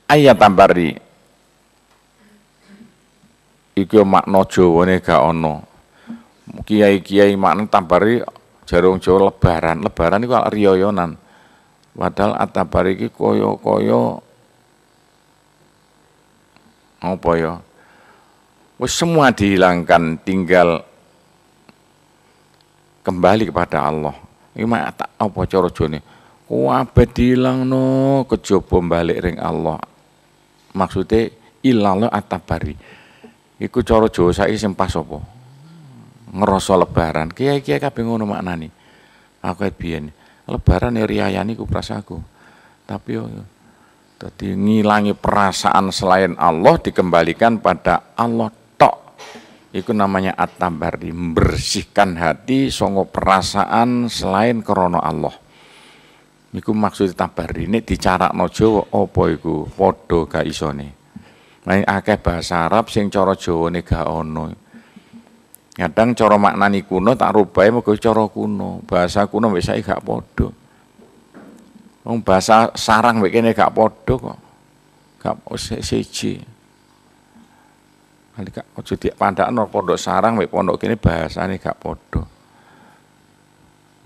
Ayat tambari. Iku makna Jawane gak ana. Kiai-kiai makna tambari jarung Jawa lebaran. Lebaran iku riyoyonan. Padahal at-tabari iki kaya-kaya apa ya? Wis semua dihilangkan, tinggal kembali kepada Allah. Iki mak tak apa cara Jawane? Kabeh dilangno kejaba balik ring Allah. Maksude ilallah at-tabari. Iku cara Jawa saiki sing pas apa? Ngerasa lebaran. Kiai-kiai kabeh ngono maknane. Aku biyen lebaran ya riyayane ku prasaku. Tapi yo dadi ngilangi perasaan selain Allah dikembalikan pada Allah tok. Iku namanya at-tabari, membersihkan hati saka perasaan selain krana Allah. Iku maksud tabari. Nek dicarakno Jawa apa iku? Padha gak isone. Nah, akeh bahasa Arab sing cara Jawane gak ana. Kadang cara maknani kuno tak rubahe mergo cara kuno. Bahasa kuno mbek saiki gak padha. Wong bahasa sarang mbek kene gak padha kok. Gak siji. Kali gak aja dipandakno pondok sarang mbek pondok kene bahasane gak padha.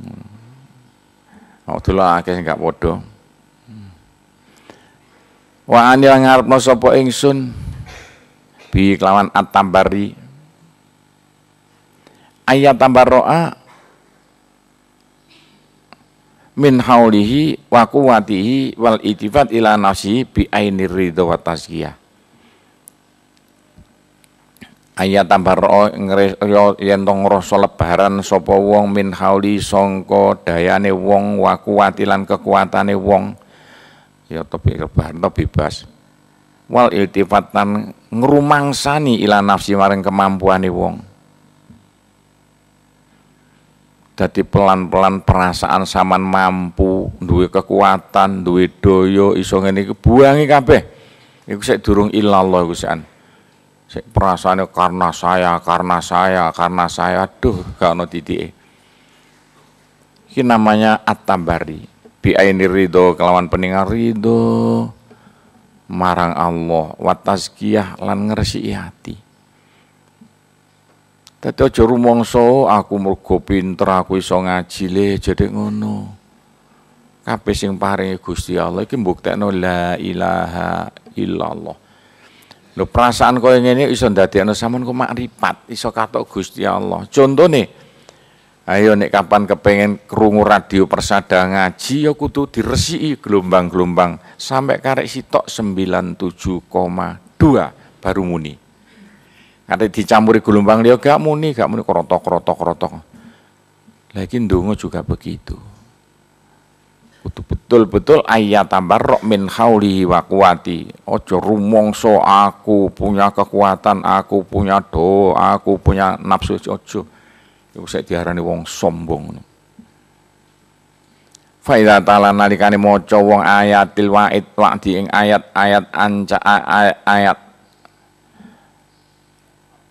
Hmm. Oh, delok akeh sing gak padha. Wa anil ngarepno sapa ingsun bi kelawan at-tambari ayat tambarroa min haulihi wa quwwatihi wal itifat ila nafsihi bi ainir ridha wa tazkiyah. Ayat tambarroa yen to ngrasa lebaran sapa wong min hauli sangka dayane wong wa quwwati lan kekuatane wong. Ya tapi lebaran to bebas. Wal iltifatan ngrumangsani ila nafsi maring kemampuane wong. Dadi pelan-pelan perasaan saman mampu, duwe kekuatan, duwe daya iso ngene iki buangi kabeh. Iku sik durung ilallah iku sian. Sik perasaane karena saya, karena saya, karena saya, aduh gak ono titike. Iki namanya at-tambari. Bi aini ridho kelawan peningal ridho marang Allah wa tazkiyah lan ngresiki ati. Dadi aja rumangsa aku mergo pinter aku iso ngaji le jadi ngono. Kabeh sing paringi Gusti Allah iki mbuktekno la ilaha illallah. Lho perasaan koyo ngene iso ndadekno sampean ku makrifat, iso katok Gusti Allah. Contone ayo nek kapan kepengen krungu radio Persada ngaji ya kudu diresiki gelombang-gelombang sampai karek sitok sembilan tujuh koma dua baru muni. Kate dicampuri gelombang liya gak muni, gak muni krotok-krotok-krotok. Lah iki ndonga juga begitu. Kudu betul-betul ayat tabarruk min haulihi wa quwati. Aja rumangsa aku punya kekuatan, aku punya do, aku punya nafsu, aja. Iku sik diarani wong sombong. Fa idza ta'ala nalikane maca wong ayatil wa'id wa'di ing ayat-ayat anca ayat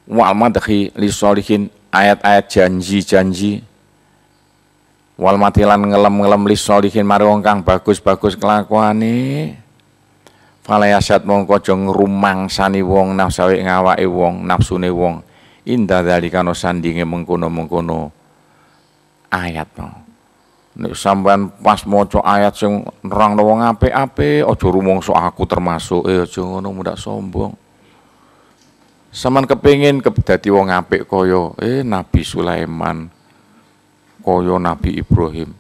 wal madhi li sholihin ayat-ayat janji-janji wal matilan ngelem-ngelem li sholihin mari wong kang bagus-bagus kelakuane Falayasat mongko aja ngrumangsani wong nafsawe ngawake wong nafsune wong inda dzalika no sandinge mengkono-mengkono ayat no. Nek sampean pas maca ayat sing nerangno wong apik-apik aja rumangsa aku termasuk eh aja ngono mundak sombong. Sampean kepengin dadi wong apik kaya eh Nabi Sulaiman kaya Nabi Ibrahim.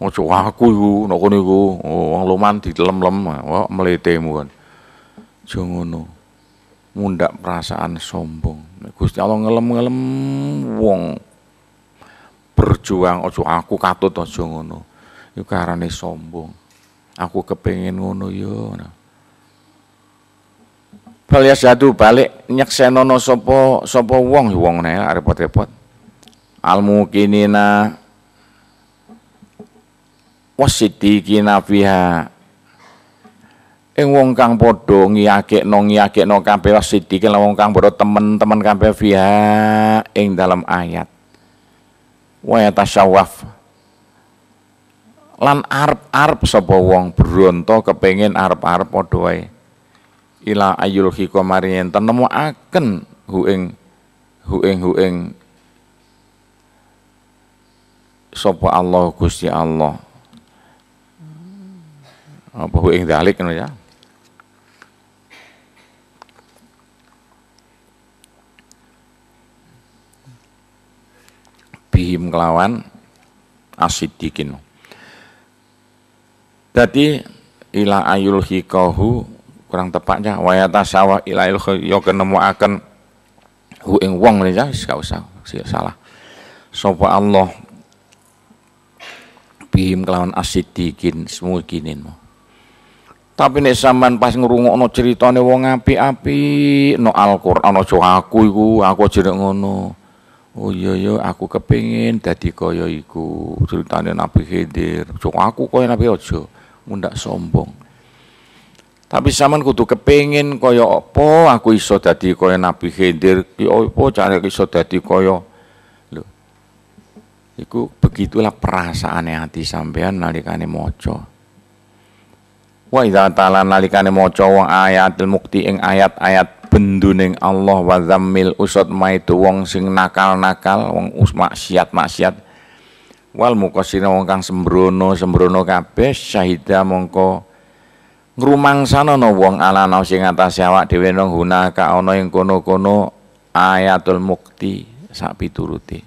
Aja aku iku nek kono iku wong loman dilem-lem wah mletemu kan. Aja ngono. Mundak perasaan sombong. Nek Gusti Allah ngelem-ngelem wong berjuang aja aku katut aja ngono. Iku karane sombong. Aku kepengin ngono ya. Bal yasadu balik nyeksenono sapa sapa wong wong nek repot-repot. Al muqinina wasiddiqina fiha ing wong kang padha ngiyakekno ngiyakekno kabeh wasiddiqin lan wong kang padha temen-temen kabeh fiha ing dalam ayat wa yatasawaf lan arep-arep sapa wong bronto kepengin arep-arep padha wae ila ayul khiqamari yen tenemokaken hu ing hu ing hu ing sapa Allah Gusti Allah apa hu ing dalik ngono ya. Bihim kelawan asidikin. Dadi ila ayul hikahu kurang tepatnya wa yatasawa ila ayul ya kenemuaken hu ing wong ya wis gak usah salah. Sapa Allah bihim kelawan asidikin semukinin. Tapi nek sampean pas ngrungokno critane wong apik-apik no Al-Qur'an aja aku iku, aku aja nek ngono. Oh iya iya aku kepengin dadi kaya iku, critane Nabi Khidir. Aja aku kaya Nabi aja, mundak sombong. Tapi sampean kudu kepengin kaya apa aku iso dadi kaya Nabi Khidir, ki apa carane iso dadi kaya lho. Iku begitulah perasaane ati sampean nalikane maca. Wa idza ta'ala nalikane maca wong ayatul mukti ing ayat-ayat benduning Allah wa zammil usad maitu wong sing nakal-nakal wong maksiat-maksiat wal muqassirina wong kang sembrono sembrono kabeh syahida mongko ngrumangsana wong ala sing atase awak dhewe nang hunaka ana ing kono-kono ayatul mukti sak piturute.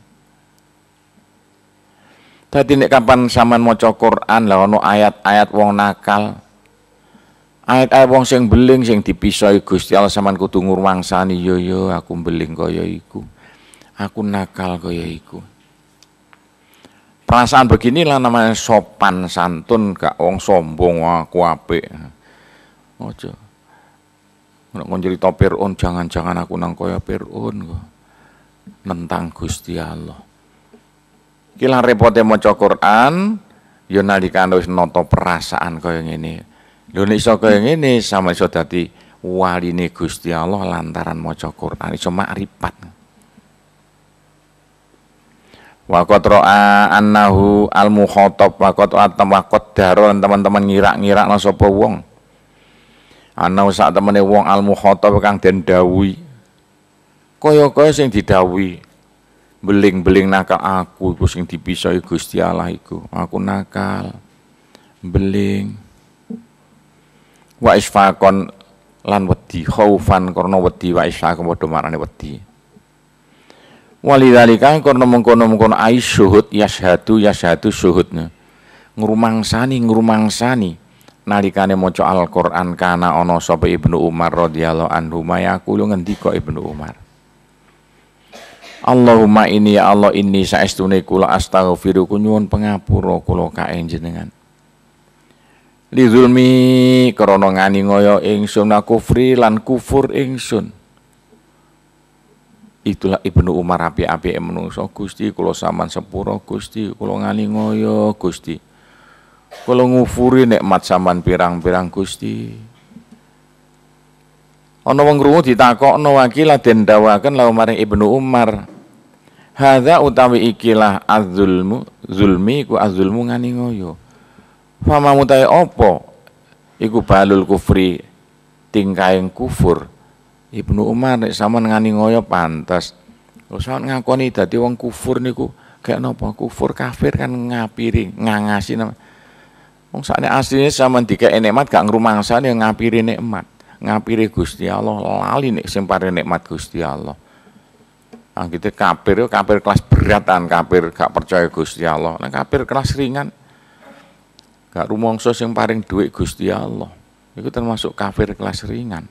Dadi nek kapan sampean maca Quran lah ana ayat-ayat wong nakal, ayat-ayat wong sing beling sing dipisoi Gusti Allah sampean kudu ngrumangsani yo yo aku beling kaya iku. Aku nakal kaya iku. Perasaan beginilah namanya sopan santun, gak wong sombong aku apik. Aja. Nek kon cerita Fir'aun jangan-jangan aku nang kaya Fir'aun kok. Nentang Gusti Allah. Iki lah repote maca Quran ya nalikane wis nata perasaan kaya ngene. Lho nek iso kaya ngene sama iso dadi waline Gusti Allah lantaran maca Quran iso makrifat. Wa qad ra'a annahu al-mukhatab wa qad atam wa qad daron teman-teman ngira-ngirakno sapa wong. Ana sak temene wong al-mukhatab kang den dawuhi. Kaya-kaya sing didhawuhi beling-beling nakal aku iku sing dipisoi Gusti Allah iku. Aku nakal, beling. Wa isfaqon lan wedi khaufan karena wedi wa isfaqon padha marane wedi. Walidzalika karena mengkono-mengkono ai syuhud yashhadu yashhadu syuhudnya. Ngrumangsani ngrumangsani nalikane maca Al-Qur'an kana ana sapa Ibnu Umar radhiyallahu anhu mayaqulu ngendika Ibnu Umar. Allahumma ini ya Allah inni saestune kula astaghfiruka nyuwun pangapura kula ka jenengan. Li zulmi krana ngani ngoyo ingsun kufri lan kufur ingsun. Itulah Ibnu Umar apik-apike menungso Gusti kula sampean sepura Gusti kula ngani ngoyo Gusti. Kula ngufuri nikmat sampean pirang-pirang Gusti. Ana wong krungu ditakokno wakilah den dawaken lawu maring Ibnu Umar. Hadza utawi ikilah az-zulmu, zulmi ku az-zulmu ngani ngoyo. Fama mutahe apa? Iku balul kufri. tingkaing kufur. Ibnu Umar nek sampean ngani ngoyo pantes. Lho sampean ngakoni dadi wong kufur niku gak napa kufur kafir kan ngapiri ngangasi. Wong sakne asline sampean dikek nikmat gak ngrumangsani ngapiri nikmat, ngapiri Gusti Allah, lali nek sing paring nikmat Gusti Allah. Ah gitu kafir kafir kelas beratan, kafir gak percaya Gusti Allah. Nek kafir kelas ringan gak rumangsa sing paring dhuwit Gusti Allah. Iku termasuk kafir kelas ringan.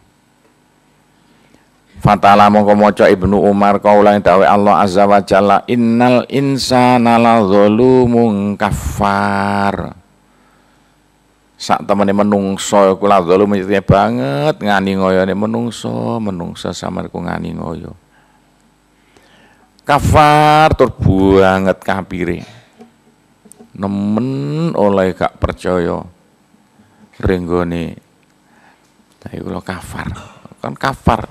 Fatala mongko maca Ibnu Umar kaula dawuh Allah Azza wa Jalla innal insana lazalumun kafar. Sak temene menungso iku lazalum banget ngani ngoyone menungso, menungso samarku ngani ngoyo. Kafar tur banget kafire. Nemen oleh gak percaya renggone. Lah iku lho kafar. Kan kafar.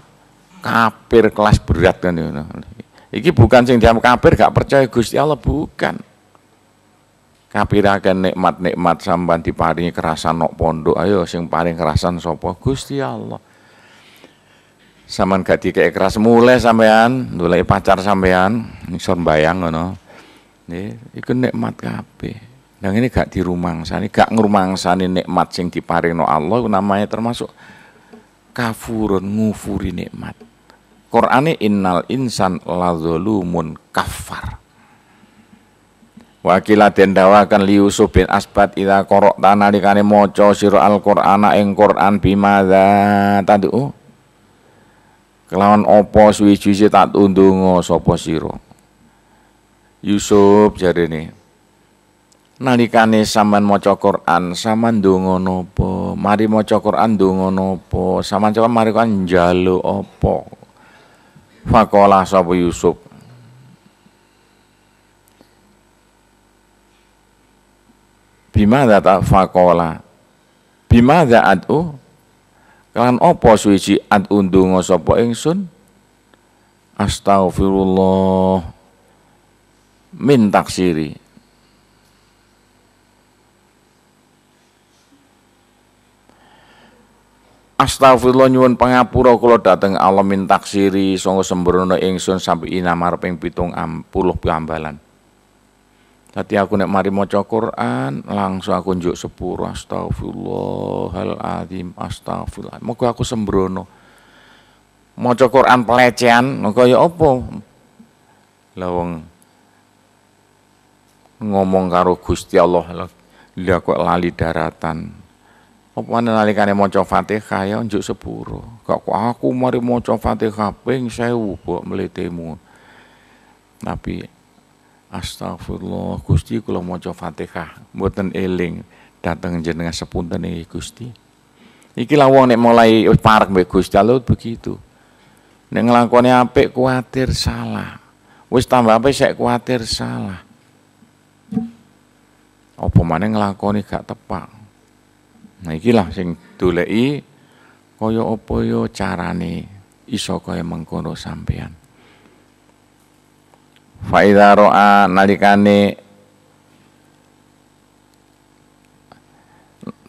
Kafir kelas berat kan ngono. Iki bukan sing diam kafir gak percaya Gusti Allah, bukan. Kafir akan nikmat-nikmat sampean diparingi kerasan nok pondok, ayo sing paring kerasan sapa? Gusti Allah. Sampean gak dikek keras mulai sampean golek pacar sampean iso mbayang ngono. Nggih, iku nikmat kabeh. Nah ini gak dirumangsani, gak ngrumangsani nikmat sing diparingno Allah iku namanya termasuk kafurun, ngufuri nikmat. Qur'ane innal insan lazalumun kafar. Wakila den dawakan li Yusuf bin Asbat ida qara'ta nalikane maca sira Al-Qur'ana ing Qur'an bimadza tadu kelawan apa suwi-suwi tak ndonga sapa sira. Yusuf jarene nalikane sampean maca Qur'an sampean ndonga napa? Mari maca Qur'an ndonga napa? Sampean coba mari kan njaluk apa? Faqala sapa Yusuf bimadza ta faqala bimadza ad'u kan apa suwiji ad'u ndonga sapa ingsun astaghfirullah min taksiri. Astagfirullah nyuwun pangapura kula dhateng Allah min taksiri sanga sembrono ingsun sampe inamar ping pitung puluh ambalan. Tadi aku nek mari maca Quran langsung aku njuk sepuro astagfirullahaladzim astagfirullah. Moga aku sembrono. Maca Quran pelecehan kaya apa? Lah wong ngomong karo Gusti Allah lha kok lali daratan. Apa nalikane maca Fatihah ya njuk sepuro. Kok aku mari maca Fatihah ping sewu mbok mletemu. Tapi astagfirullah Gusti kula maca Fatihah mboten eling dhateng jenengan sepunten iki Gusti. Iki lah wong nek mulai parek mbek Gusti Allah begitu. Nek nglakoni apik kuwatir salah. Wis tambah apik sek kuwatir salah. Apa maneh nglakoni gak tepak. Nah ikilah sing doleki kaya apa ya carane iso kaya mengkono sampean. Fa idza ra'a nalikane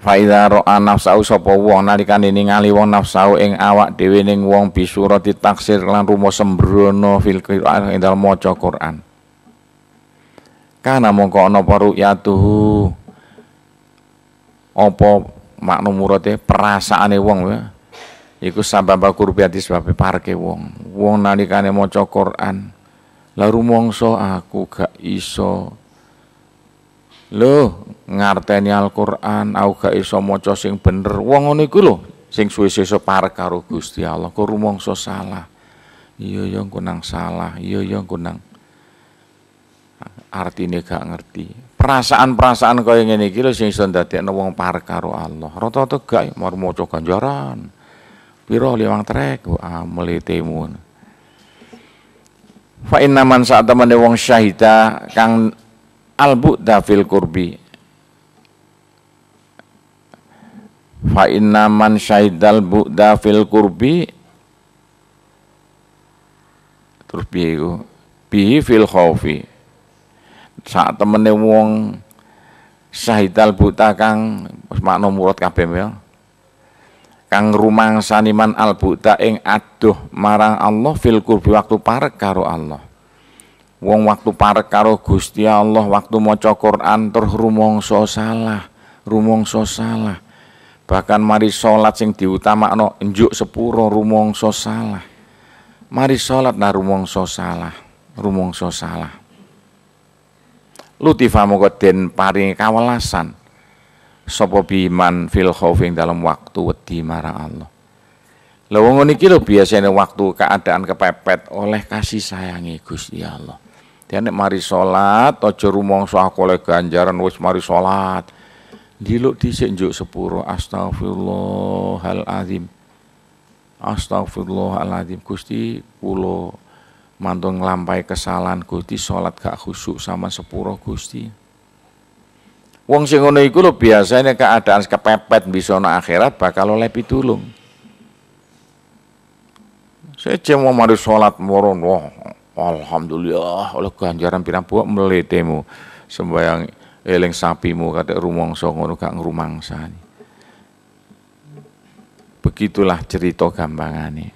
fa idza ra'a nafsau sapa wong nalikane ningali wong nafsau ing awak dhewe ning wong bisurati taksir lan rumo sembrono fil Qur'an ing dalem maca Qur'an. Kana mongko ana apa ru'yatuhu apa makna murate perasaane wong ya iku sabab kurbiati sebabe parke wong. Wong nalikane maca Qur'an la rumangsa aku gak iso lho ngarteni Al-Qur'an, aku gak iso maca sing bener. Wong ngono iku lho sing suwe-suwe parek karo Gusti Allah kok rumangsa salah. Iya ya engko nang salah, iya ya engko nang artine gak ngerti. Perasaan-perasaan kaya ngene iki lho sing iso ndadekno wong parek karo Allah. Rata-rata gak mar maca ganjaran. Piro liwang trek ah mletemu. Fa inna man saat temene wong syahida kang al-bu'da fil qurbi. Fa inna man syahidal bu'da fil qurbi terus piye iku? Bihi fil khaufi. Saat temene wong syahidal buta kang makna murad kabeh ya. Kang rumangsani man albuta ing aduh marang Allah fil qurbi waktu parek karo Allah. Wong waktu parek karo Gusti Allah waktu maca Quran terus rumangsa salah, rumangsa salah. Bahkan mari salat sing diutamakno njuk sepuro rumangsa salah. Mari salat nah rumangsa salah, rumangsa salah. Lutifa moko den paringi kawelasan sapa biman fil khauf ing dalem waktu wedi marang Allah. Lha wong ngene iki lho biasane waktu keadaan kepepet oleh kasih sayangi Gusti Allah. Dia nek mari salat aja rumangsa aku oleh ganjaran wis mari salat. Diluk dhisik njuk sepuro astagfirullahalazim. Astagfirullahalazim Gusti kula mantun nglampahi kesalahan Gusti salat gak khusuk sama sepuro Gusti. Wong sing ngono iku lho biasane keadaan kepepet bisa ana akhirat bakal oleh pitulung. Seje mau mari salat moron, wah alhamdulillah oleh ganjaran pirang buak mletemu sembayang eling sapimu kathek rumangsa ngono gak ngrumangsani. Begitulah cerita gampangane.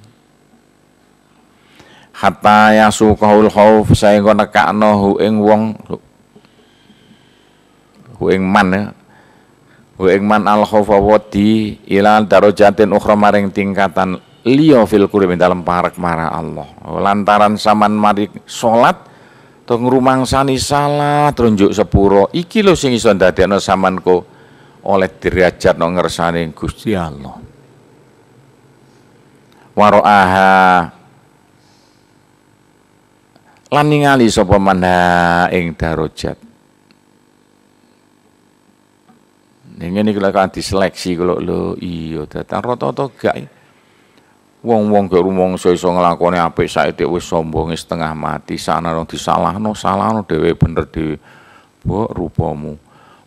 Hatta yasuqul khauf saengga nekakno hu ing wong hu ing man ya. Hu ing man al khaufa wadi ila darajatin ukhra maring tingkatan liya fil qurbi dalem parek marang Allah. Lantaran sampean mari salat to ngrumangsani salah terus njuk sepuro iki lho sing iso ndadekno sampean ko oleh derajat no ngersane Gusti Allah. Waro'aha lan ningali sapa manha ing darajat. Ngene iki lho kan diseleksi kula lho iya datan rata-rata gak. Wong-wong gak rumangsa iso nglakoni apik saiki wis sombonge setengah mati sana wong disalahno salahno dhewe bener dhewe. Mbok rupamu.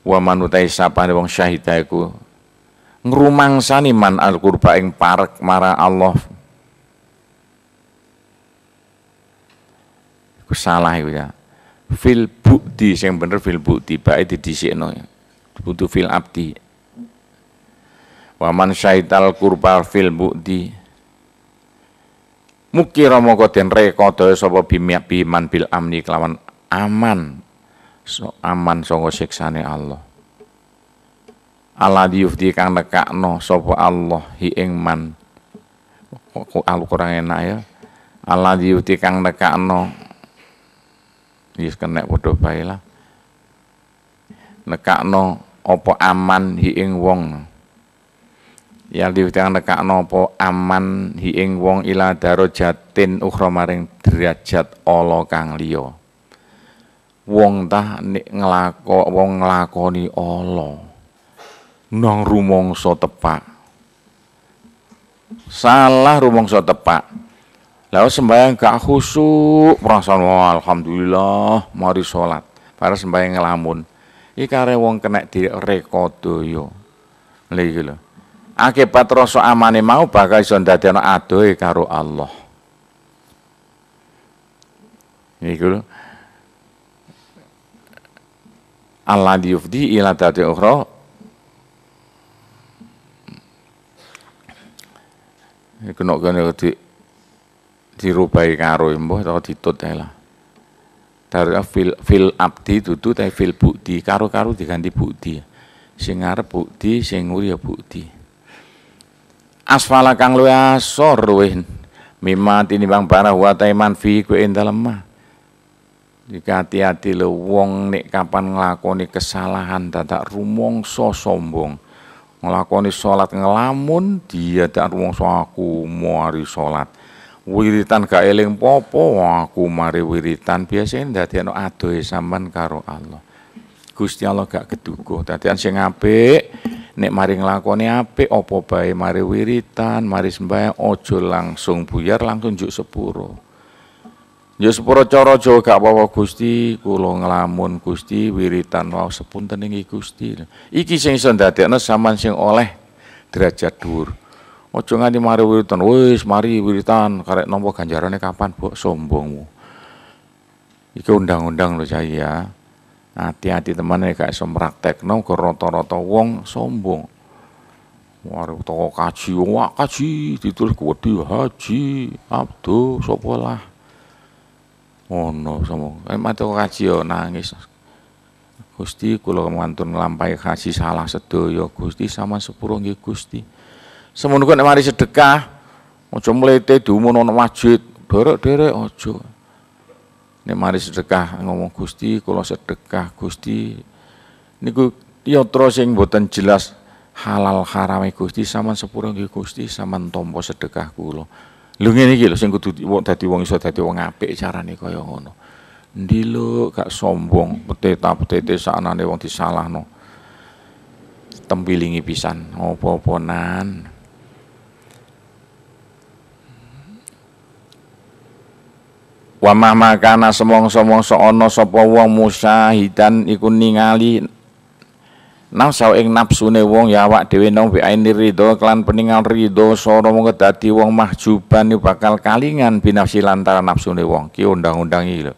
Wa manutai sapane wong syahida iku ngrumangsani man al-qurba ing parek marang Allah. Iku salah iku ya. Fil bukti sing bener fil bukti bae didhisikno ya. Butuh fil abdi. Wa man syaital qurba fil bukti mukira moko den rekodaya sapa biman bil amni kelawan aman so, aman saka siksane Allah. Allah yufdi kang nekakno sapa Allah hi ing man. Kok aku kurang enak ya. Allah yufdi kang nekakno wis kenek padha bae lah. Nekakno apa aman hi ing wong. Ya diwetang nekakno apa aman hi ing wong ila darajatin ukhra maring derajat ala kang liya. Wong tah nek nglako wong nglakoni ala nang rumangsa tepak. Salah rumangsa tepak. Lah sembayang gak khusuk, perasaan wah, alhamdulillah mari salat. Para sembayang ngelamun. Iki kare wong kenek direkodaya. Lha iki lho. Akibat rasa amane mau bakal iso ndadekno adohe karo Allah. Niku lho. Allah yufdi ila dati ukhra. Iku nek kene di dirubahi karo mbuh atau ditut ae lah. Dari fil fil abdi dudu ta fil bukti, karo-karo diganti bukti. Sing ngarep bukti, sing nguri ya bukti. Asfala kang luwih asor luwih mimma tinimbang barang wa taiman fi kuwi ing dalem mah. Jika hati-hati lho wong nek kapan nglakoni kesalahan dadak rumangsa sombong. Nglakoni salat ngelamun dia dak rumangsa aku mari salat. Wiritan gak eling popo aku mari wiritan biasane ndadekno adohe sampean karo Allah. Gusti Allah gak keduga. Dadian sing apik nek mari nglakoni apik apa bae mari wiritan, mari sembahyang aja langsung buyar langsung njuk sepuro. Njuk sepuro cara Jawa gak apa-apa Gusti, kula nglamun Gusti wiritan wau sepunten inggih Gusti. Iki sing iso ndadekno sampean sing oleh derajat dhuwur. Aja nganti mari wiritan, wis mari wiritan karek nampa ganjarane kapan mbok sombongmu. Iki undang-undang lho saya. Hati-hati teman nek gak iso praktekno rata-rata wong sombong. Warung toko kaji, wah kaji ditulis gede Haji Abdul sapa lah. Ngono sama. Nek toko kaji yo nangis. Gusti kula mantun nglampahi haji salah sedaya Gusti sama sepuro nggih Gusti. Semono nek mari sedekah aja mlete diumun ana masjid, derek-derek aja. Nek mari sedekah ngomong Gusti kula sedekah Gusti. Niku yatra sing mboten jelas halal harame Gusti sampean sepuro nggih Gusti sampean tampa sedekah kula. Lho ngene iki lho sing kudu dadi wong iso dadi wong apik carane kaya ngono. Endi lho gak sombong, peteta-petete saknane wong disalahno. Tempilingi pisan apa-apanan. Wa mahma kana semongso-mongso ana sapa wong musyahidan iku ningali nafsu ing nafsune wong ya awak dhewe nang bi aini ridho kelan peningal ridho sora mung dadi wong mahjuban bakal kalingan binafsi lantaran nafsune wong ki undang-undang iki lho.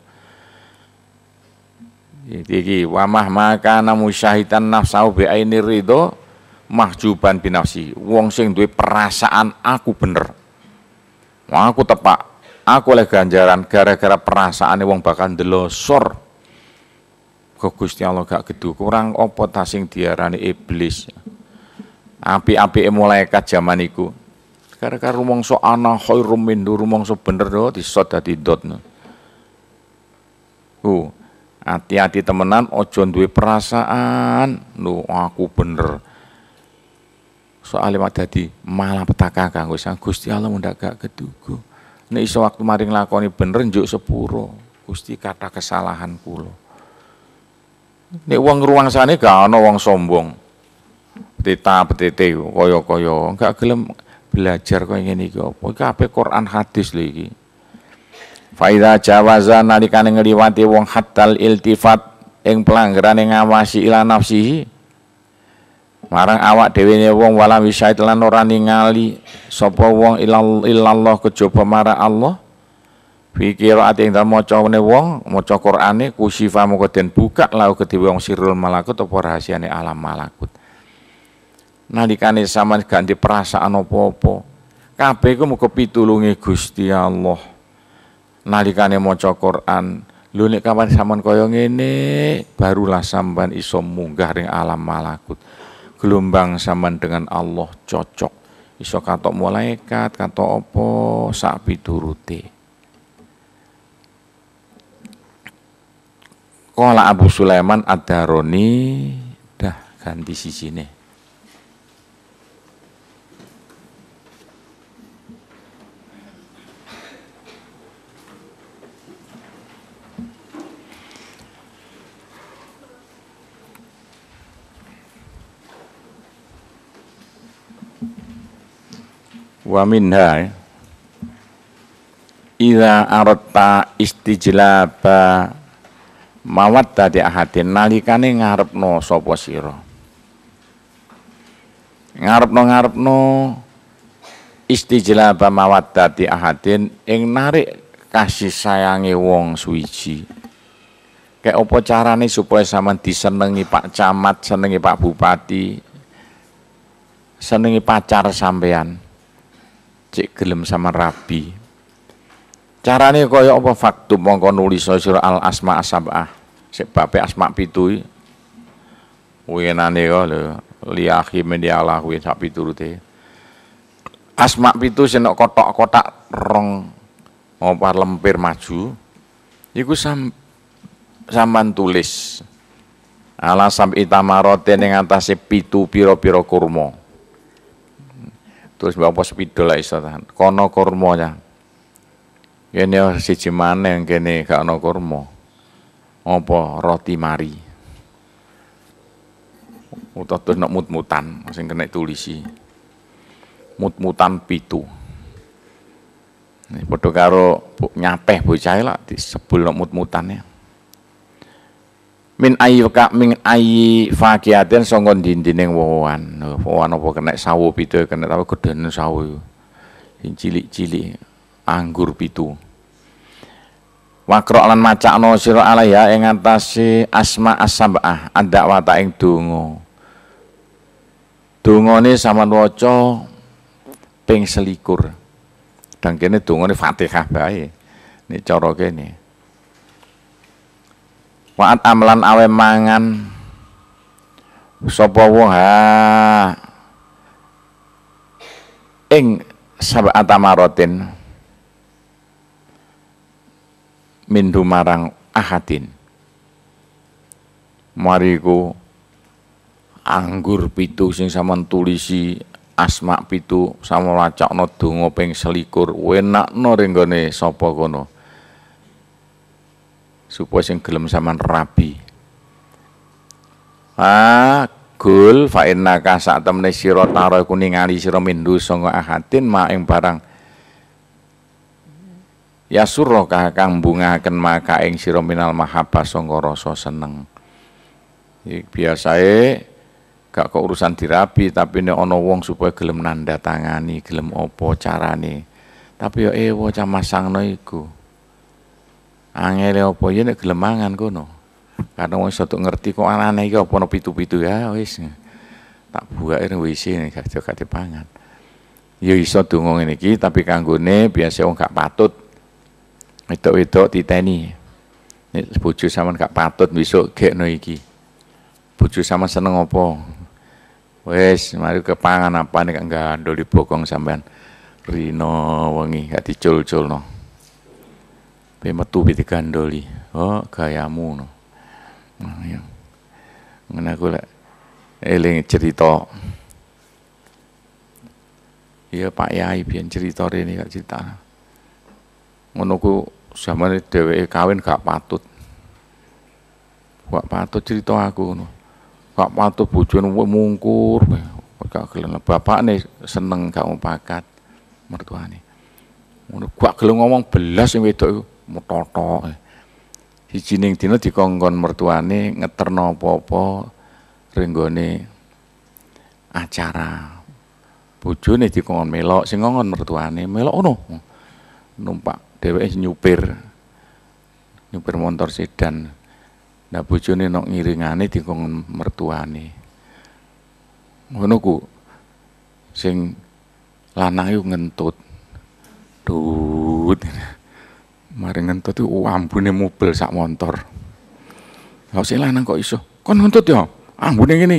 Iki wa mahma kana musyahidan nafsu bi aini ridho mahjuban binafsi. Wong sing duwe perasaan aku bener. Aku tepak, aku oleh ganjaran gara-gara perasaane wong bakal ndelosor. Ke Gusti Allah gak gedu kurang apa ta sing diarani iblis. Apik-apike malaikat jaman iku. Gara-gara rumangsa ana khairum min rumangsa bener do disot dadi dot. Ku, hati-hati temenan aja duwe perasaan lho aku bener. Soale mak dadi malapetaka kanggo sang Gusti Allah mundak gak keduga. Nek iso waktu maring lakoni bener njuk sepuro. Gusti kathah kesalahan kula. Nek wong ruwangsane gak ana wong sombong. Petita-petite kaya-kaya gak gelem belajar kaya ngene iki apa. Iki kabeh Quran hadis lho iki. Fa idza jawaza nalikane ngliwati wong haddal iltifat ing pelanggarane ngawasi ila nafsihi marang awak dhewe ne wong wala wisaid lan ora ningali sapa wong ilallah kejaba marang Allah. Fi qiraati ing dalem macane wong maca Qur'ane kusifa moko den buka lau kedhewe wong sirrul malakut apa rahasiane alam malakut. Nalikane sampean gak ndek perasaan apa-apa, kabeh iku muga pitulunge Gusti Allah. Nalikane maca Qur'an, lho nek kapan sampean kaya ngene, barulah sampean iso munggah ring alam malakut. Gelombang sampean dengan Allah cocok. Iso katok malaikat, katok apa sak piturute. Qala Abu Sulaiman Ad-Darani dah ganti sisine. Wa minha idza aradta istijlaba mawaddati ahadin nalikane ngarepno sapa sira ngarepno-ngarepno istijlaba mawaddati ahadin ing narik kasih sayange wong suwiji. Kayak apa carane supaya sampean disenengi Pak Camat, senengi Pak Bupati, senengi pacar sampean, cek gelem sama rabi. Carane kaya apa faktub mongko nulis sira al asma asabah. Sik bape asma pitu iki. Wingenane kok lho liahi mendialah kuwi sak piturute. Asma pitu sing nok kotak-kotak rong apa lempir maju iku sam sampean tulis ala sam'i tamarote ning atase pitu pira-pira kurma. Terus mbok apa sepidol lek iso tahan. Kono kurma ya. Kene siji maneh kene gak ana kurma. Apa roti mari. Utawa terus nok mut-mutan sing kena tulisi. Mut-mutan pitu. Nih padha karo nyapeh bocah lak disebul nok mut-mutane. Min ayi ka min ayi fakiaten sangka ndindine wowoan. Wowoan apa kena sawo pitu kena tapi gedene sawo. Sing cilik-cilik anggur pitu. Wakro lan macakno sira alaiha ing atase asma as-sab'ah adakwata ing donga. Dungane sampean waca ping selikur. Dan kene dungane Fatihah bae. Nek cara kene. Wa'at amlan awe mangan sapa wong ha ing sab'ata marotin mindu marang ahadin. Mariku anggur pitu sing sampean tulisi asma pitu sampean wacakna donga ping selikur wenakno renggone sapa kono supaya sing gelem sampean rabi. Ah gul fa innaka sak temene sira taro iku ningali sira mindu sanga ahadin ma ing barang ya surra kang bungahaken maka ing sira minal mahabbah sanga rasa seneng. Iki biasae gak kok urusan dirabi tapi nek ana wong supaya gelem nandatangani, gelem apa carane. Tapi ya ewo cah masangno iku. Angele apa ya nek gelem mangan kono. Karena wong iso ngerti kok anane iki apa ana pitu-pitu ya wis. Tak buake nang W C nek gak gak dipangan. Ya iso donga ngene iki tapi kanggone biasa wong gak patut. Wedok-wedok titeni. Nek bojo sampean gak patut besok gekno iki. Bojo sampean seneng apa? Wis, mari kepangan apa nek gandoli bokong sampean. Rino wengi gak dicul-culno. Pe metu pi digandoli. Oh, gayamu no. Nah, ya. Ngene aku lek eling cerita. Iya Pak Yai biyen cerita rene gak cerita. Ngono ku zamane dheweke kawin gak patut. Gak patut cerita aku ngono. Gak patut bojone mungkur, gak gelem bapakne seneng gak mau pakat mertuane. Ngono gak gelem ngomong belas sing wedok iku metotok. Siji ning dina dikongkon mertuane ngeterno apa-apa renggone acara. Bojone dikongkon melok, sing ngongkon mertuane melok ngono. Numpak dheweke nyupir. Nyupir motor sedan. Nah bojone nok ngiringane dikongkon mertuane. Ngono ku sing lanang iku ngentut. Dut. Mari ngentut iku ambune mobil sak motor. Lah sing lanang kok iso? Kon ngentut ya? Ambune ngene.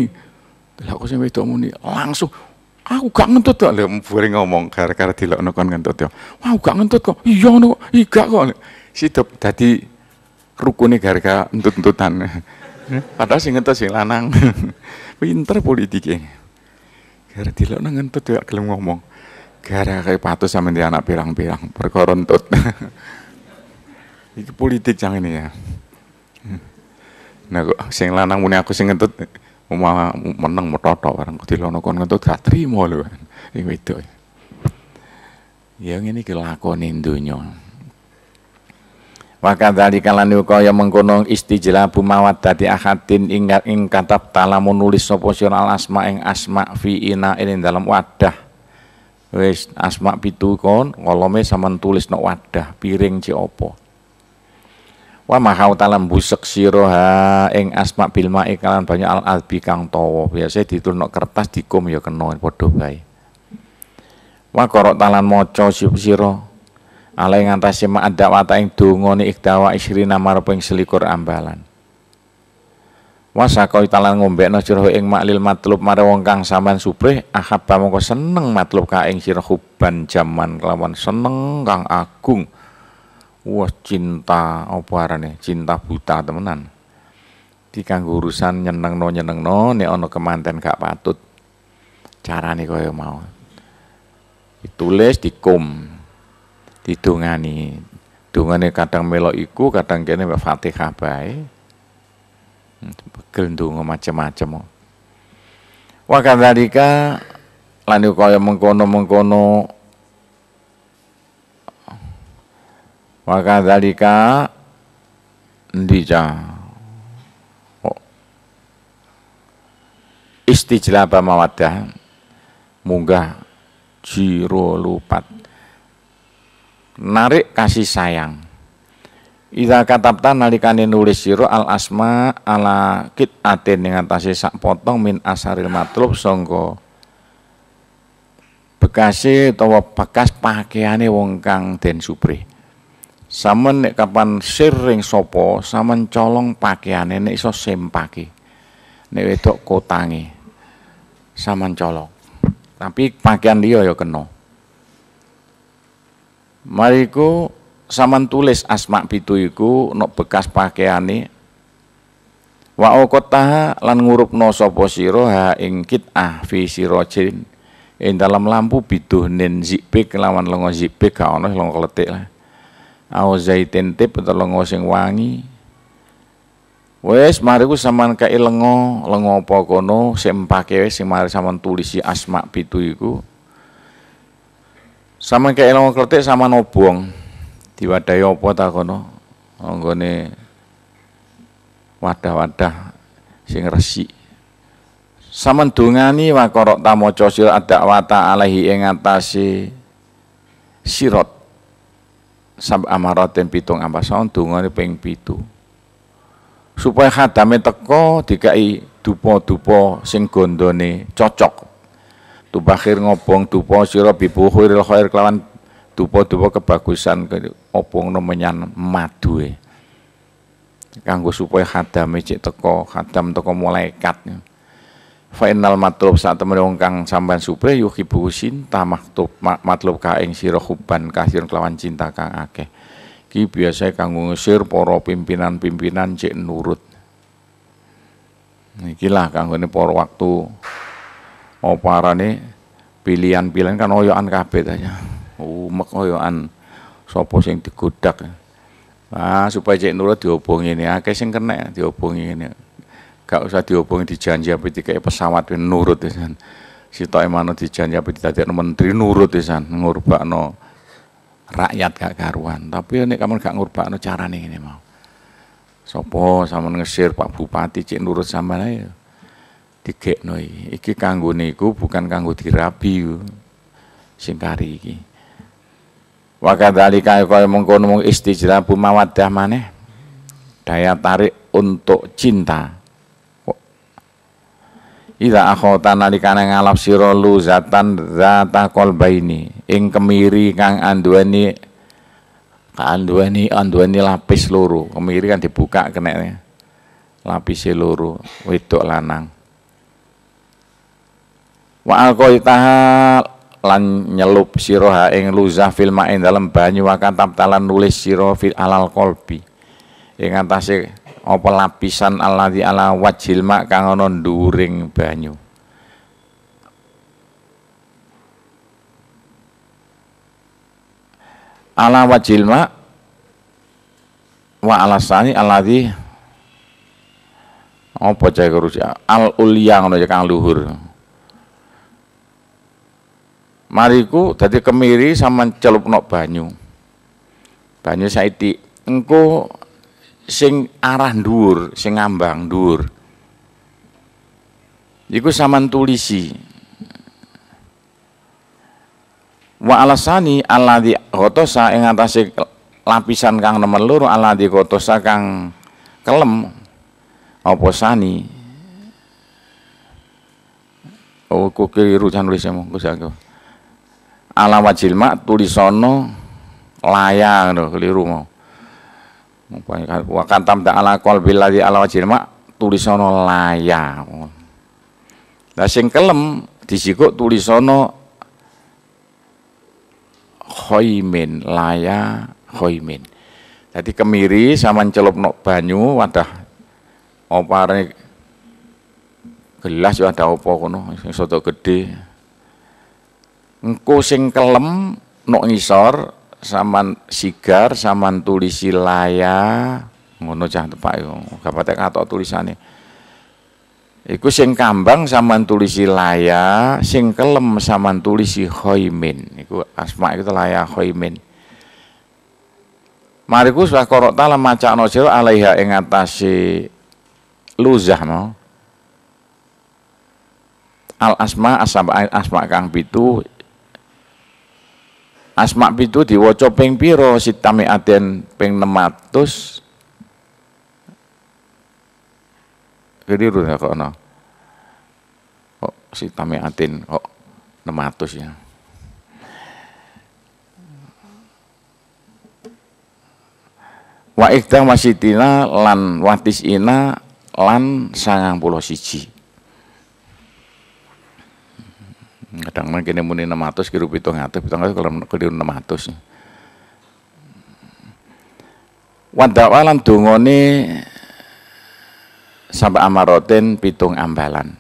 Lah kok sing wedok muni langsung aku gak ngentut kok. Lha mbure ngomong gara-gara dilokno kon ngentut ya. Wah, aku gak ngentut kok. Iya ngono kok. Iya kok. Sidop dadi rukune gara-gara entut-entutan. Padahal sing ngentut sing lanang. Pinter politike. Gara dilokno ngentut ya gelem ngomong. Gara-gara patus sampe anak pirang-pirang perkara entut. Iki politik cang ini ya. Nah kok sing lanang muni aku sing ngentut malah meneng metotok bareng dilono kon ngentut gak trimo lho. Sing wedok. Ya ngene iki lakone donya. Wa kadzalika lan kaya mengkono istijlabu mawaddati ahadin ing ing katab talamun nulis sapa sira al asma ing asma fi ina ing dalam wadah. Wis asma pitu kon kolome sampean tulis nok wadah piring cek apa. Wa mahau talam busek sira ha ing asma bil ma'i kalan banyu al albi kang tawa. Biasa ditulis nok kertas dikum ya kena padha bae. Wa qara'ta talan maca sira ala ing antase ma'adawata ing dongane ikdawa isrina marep ing selikur ambalan. Wa sakoi talan ngombekno sira ing maklil matlub marang wong kang sampean suprih ahabba mongko seneng matlub ka ing sira huban jaman kelawan seneng kang agung. Wah cinta apa arane cinta buta temenan. Iki kanggo urusan nyenengno-nyenengno nek ana kemanten gak patut. Carane kaya mau. Ditulis dikum. Didongani. Dongane kadang melok iku, kadang kene mek Fatihah bae. Pegel ndonga macem-macem. Wa kadzalika lan kaya mengkono-mengkono wa kadzalika endi ca oh. Istijlaba mawaddah munggah jiro lupat narik kasih sayang. Idza katabta nalikane nulis sira al asma ala qit'atin ing atase sak potong min asaril matlub sangka Bekase utawa bekas pakaiane wong kang den supri. Sampeyan nek kapan sir ing sapa, sampeyan colong pakaiane nek iso sempake. Nek wedok kotange sampeyan colong. Tapi pakaian liya ya kena. Mariku sampeyan tulis asma pitu iku nok bekas pakaiane. Wa uqtaha lan ngurupno sapa sira ha ing kit'ah fi sirajin ing dalam lampu biduhnin zibik lawan lenga zibik gak ono lenga kletik lah. Au zaitin tip utawa lenga sing wangi. Wis mariku sampean kei lenga, lenga apa kono sempake wis sing mari sampean tulisi asma pitu iku. Sampean kei lenga kletik sampean obong. Diwadahi apa ta kono? Nggone wadah-wadah sing resik. Sampeyan dongani wa qara'ta maca sira ad-da'wata alaihi ing atase sirat sab amaratin pitung ampasan dongane ping pitu. Supaya khadame teko dikai dupa-dupa sing gondone cocok. Tubakhir ngobong dupa sira bibukhiril khair kelawan dupa-dupa kebagusan obongno menyan madue. Kanggo supaya khadame cek teko, khadam teko malaikat. Fa innal matlub sak temene wong kang sampean supre yuhibu cinta maktub matlub ka ing sira hubban kasir kelawan cinta kang akeh. Iki biasa kanggo ngusir para pimpinan-pimpinan cek nurut. Iki lah kanggone para waktu apa arane pilihan-pilihan kan oyokan kabeh ta ya. Umek oyokan sapa sing digodak. Ah, supaya cek nurut diobongi ini, akeh sing kena diobongi ini. Gak usah diobongi dijanji apa dikei pesawat nurut pisan. Sitoke manut dijanji apa didadekno menteri nurut pisan, ngurbakno rakyat gak karuan. Tapi nek kamu gak ngurbakno carane ngene mau. Sopo sampean ngesir Pak Bupati cek nurut sampean ae digekno iki. Iki kanggo niku bukan kanggo dirabi sing kari iki. Wa kadzalika kaya mengkono mung istijlabu mawaddah maneh daya tarik untuk cinta. Ida akhota nalikane ngalap sira luzatan zata qalbaini ing kemiri kang anduweni anduweni anduweni lapis loro. Kemiri kan dibuka kenekne lapise loro wedok lanang. Wa alqaitaha lan nyelup sira ha ing luzah fil ma'in dalem banyu wa katabtalan nulis sira fil alal qalbi ing atase apa lapisan alladzi ala wajhil ma kang ana nduring banyu. Ala wajhil ma wa alasani alladzi apa cah al ulya ngono ya kang luhur. Mariku dadi kemiri sama celupno banyu. Banyu saiki engko sing arah dhuwur, sing ngambang dhuwur. Iku sampean tulisi. Wa alasani alladzi ghatosa ing atase lapisan kang nomer loro alladzi ghatosa kang kelem apa sani. Oh kok keliru jan nulismu Gus aku. Ala wajil ma tulisono laya ngono keliru mau. Wa katam ta ala qalbil ladzi ala wajil ma tulisono laya. Lah sing kelem disikuk tulisono khaimin laya khaimin. Dadi kemiri sampean celupno banyu wadah opare gelas ya ada apa kono sing soto gedhe. Engko sing kelem nok ngisor sampean sigar sampean tulisi laya ngono cah tepak iku gak patek katok tulisane. Iku sing kambang sampean tulisi laya, sing kelem sampean tulisi khaimin. Iku asma iku laya khaimin. Mariku sudah qara'ta lan macakno sira alaiha ing atase luzah mau. Al asma asma asma kang pitu. Asma pitu diwaca ping pira sitami aden ping enam atus. Keliru ya kok ana. Kok sitami aden kok enam atus ya. Wa ikhda wasitina lan watisina lan sangang puluh siji. Kadang-kadang kene muni enam atus kira pitung atus, pitung atus keliru enam atus. Wadawa lan dungane sampai amaroten pitung ambalan.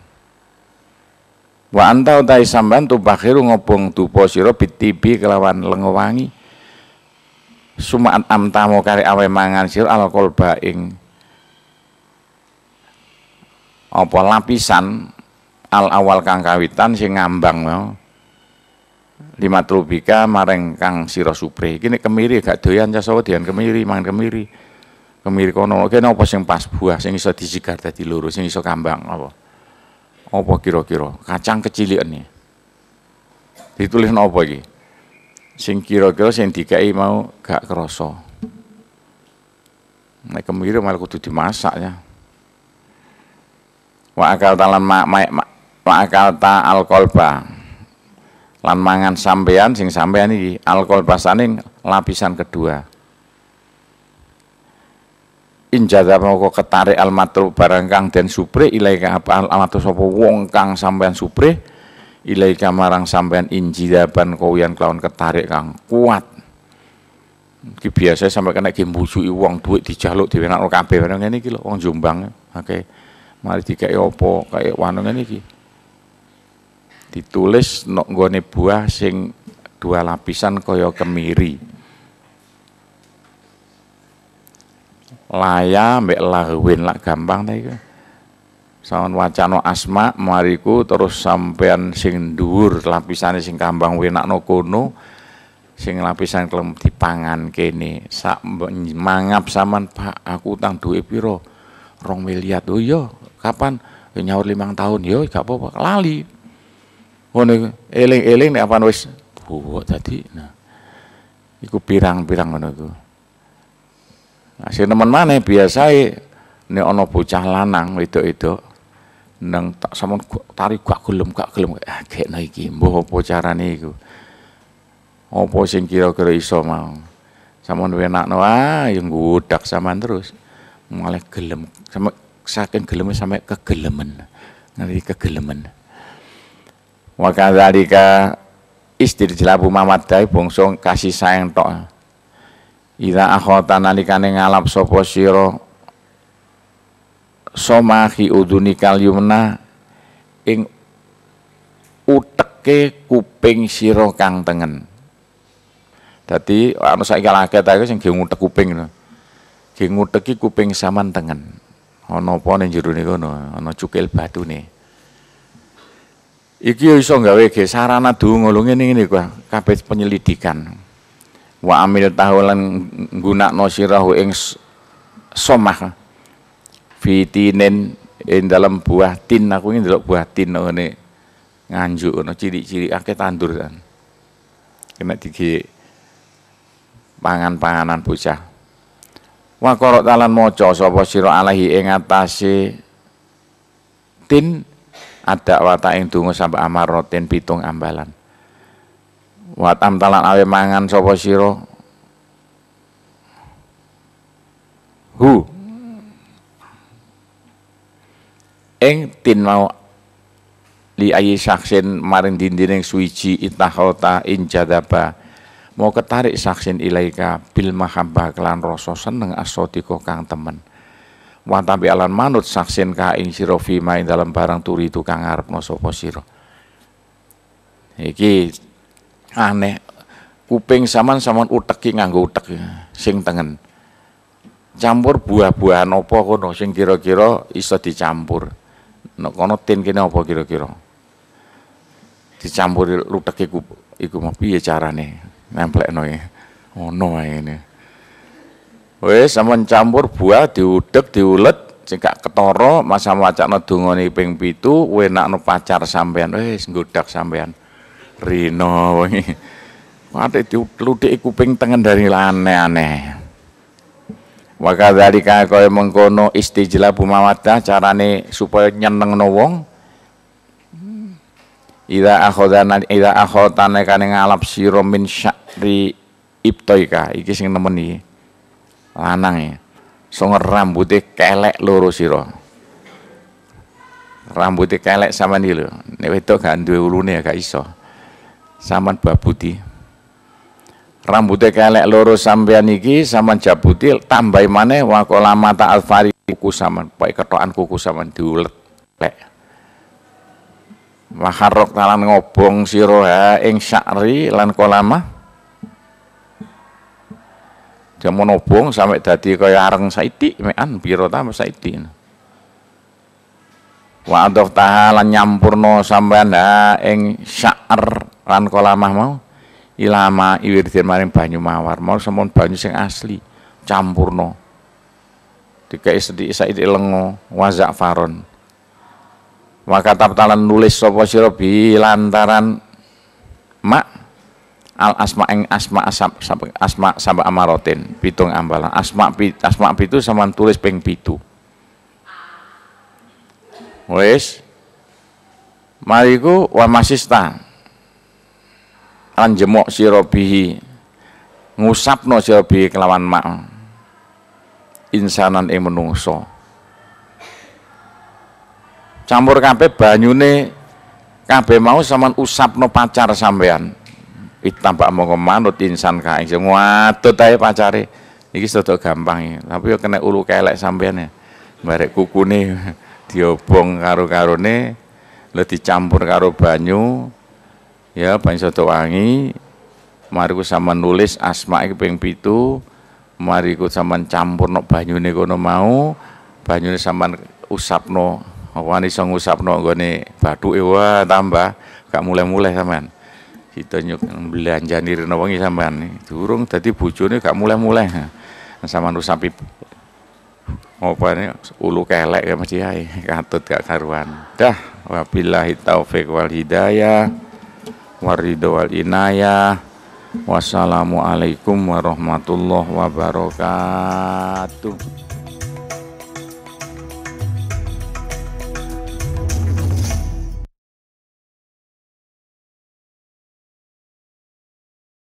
Wa anta utai sampean tubakhiru ngobong dupa sira bitibi kelawan lenga wangi. Sumaan amtamo kare awe mangan sira alkolba ing apa lapisan al awal kang kawitan sing ngambang mau lima trubika maring kang sira supre. Iki nek kemiri gak doyan casawa dian kemiri mangan kemiri. Kemiri kono kene apa sing pas buah sing iso disigar dadi loro sing iso kambang apa? Apa kira-kira? Kacang kecilian iki. Ditulis napa iki? Sing kira-kira sing dikai mau gak krasa. Nek kemiri malah kudu dimasak ya. Wa akal talan ma, ma, ma, wa akal ta alqolba. Lan mangan sampean sing sampean iki alqolba saning lapisan kedua. Injaza moko ketarik almatru barang kang den supre ilaika apa almatru sapa wong kang sampean supre ilaika marang sampean injidaban kowian kelawan ketarik kang kuat. Iki biasa sampe kena ge mbujuki wong dhuwit dijaluk diwenakno kabeh ngene iki lho wong Jombang. Oke. Mari dikeki apa kaya wano ngene iki. Ditulis nok nggone buah sing dua lapisan kaya kemiri. Laya mbek lahwin lak gampang ta iku. Sawan wacana asma mariku terus sampean sing dhuwur lapisane sing kambang wenakno kono sing lapisan klem dipangan kene. Sak mangap sampean Pak aku utang duwe pira? Rong miliar. Oh iya, kapan? Nyaur limang tahun. Yo gak apa-apa, lali. Ngono eling-eling nek apan wis buwok tadi. Nah. Iku pirang-pirang ngono iku. Nah, sing nemen maneh biasae nek ana bocah lanang wedok-wedok nang tak samon tarik gak gelem gak gelem ah gekno iki mbuh apa carane iku. Apa sing kira-kira iso mau. Samon wenakno ah ya nggodak sampean terus. Malah gelem sampe saking geleme sampe kegelemen. Ngerti kegelemen. Wa kadzalika istirjlabu mawaddah bangsa kasih sayang tok. Ida akhota nalikane ngalap sapa sira somahi udunikal yumna ing uteke kuping sira kang tengen. Dadi ana saiki akeh ta sing ge ngutek kuping lho. Ge nguteki kuping sampean tengen. Ana apa ning jerone kono, ana cukil batune. Iki iso gawe ge sarana donga lho ngene-ngene kabeh penyelidikan. Wa amil tahulan nggunakno sirahu ing somah fitinen ing dalem buah tin. Aku iki ndelok buah tin ngene Nganjuk ono cilik-cilik akeh tandur kan. Kena digi pangan-panganan bocah. Wa qara'ta lan maca sapa sira alaihi ing atase tin ada wata ing donga sampe amarotin pitung ambalan. Wa tamtalan awe mangan sapa sira hu ing tin mau li ayi saksin maring dindining suwiji itahota injadaba mau ketarik saksin ilaika bil mahabbah kelan rasa seneng asodiko kang temen wa tambi alan manut saksin ka ing sira fima ing dalem barang turi itu kang ngarepno sapa sira. Iki aneh kuping sampean-sampean uteki nganggo utek sing tengen campur buah-buahan apa kono sing kira-kira iso dicampur. Nek kono tin kene apa kira-kira dicampur luteke iku iku mau piye carane nemplekno iki ngono ae ngene. Wis sampean campur buah diudek diulet sing gak ketara masa wacana dongane ping pitu wenakno pacar sampean wis nggodak sampean rino wingi ate diluthiki kuping tengen dari aneh-aneh. Wa kadzalika kaya mengkono istijlabu mawaddah carane supaya nyenengno wong. Idza akhadana idza akhadana kane ngalap sira min sya'ri ibtaika iki sing nemen iki. Lanang ya. Songo rambute kelek loro sira. Rambute kelek sampean iki lho. Nek wedok gak duwe ulune ya gak iso. Sampean babuti. Rambute kelek loro sampean iki sampean jabuti tambahi maneh waqala mata alfari kuku sampean, pokoke kethokan kuku sampean diulet lek. Waharok talan ngobong sira ha ing sya'ri lan kolamah. Jamun obong sampai dadi kaya areng saithik mekan pira ta saithik. Wa adaf taha lan nyampurna sampean ha ing sya'ar lan kolamah mau ilama iwirdin maring banyu mawar mau sampun banyu sing asli campurna. Dikai sedhik saithik lenga wa za'faron. Wa katab talan nulis sapa sira bi lantaran mak al asma ing asma asam asma samba amarotin pitung ambalan asma asma pitu sampean tulis ping pitu. Wis mariku wa masista lan jemok sira bihi ngusapno sira bihi kelawan mak insanan ing menungso campur kabeh banyune kabeh mau sampean usapno pacar sampean. Tambah mongko manut insan kae sing ngadut ae pacare. Iki sedok gampang iki. Tapi yo kena ulu kelek sampean ya. Barek kukune diobong karo-karone, lho dicampur karo banyu. Ya banyu sedok wangi. Mariku sampean nulis asma iki ping pitu. Mariku sampean campurno banyune kono mau. Banyune sampean usapno. Wani iso ngusapno nggone bathuke wah tambah gak muleh-muleh sampean. Kita nyuk belanjani rene wengi sampean durung dadi bojone gak muleh-muleh. Sampean usapi opane ulu kelek ya mesti ae katut gak karuan. Dah wabillahi taufik wal hidayah waridho wal inayah. Wassalamualaikum warahmatullahi wabarakatuh.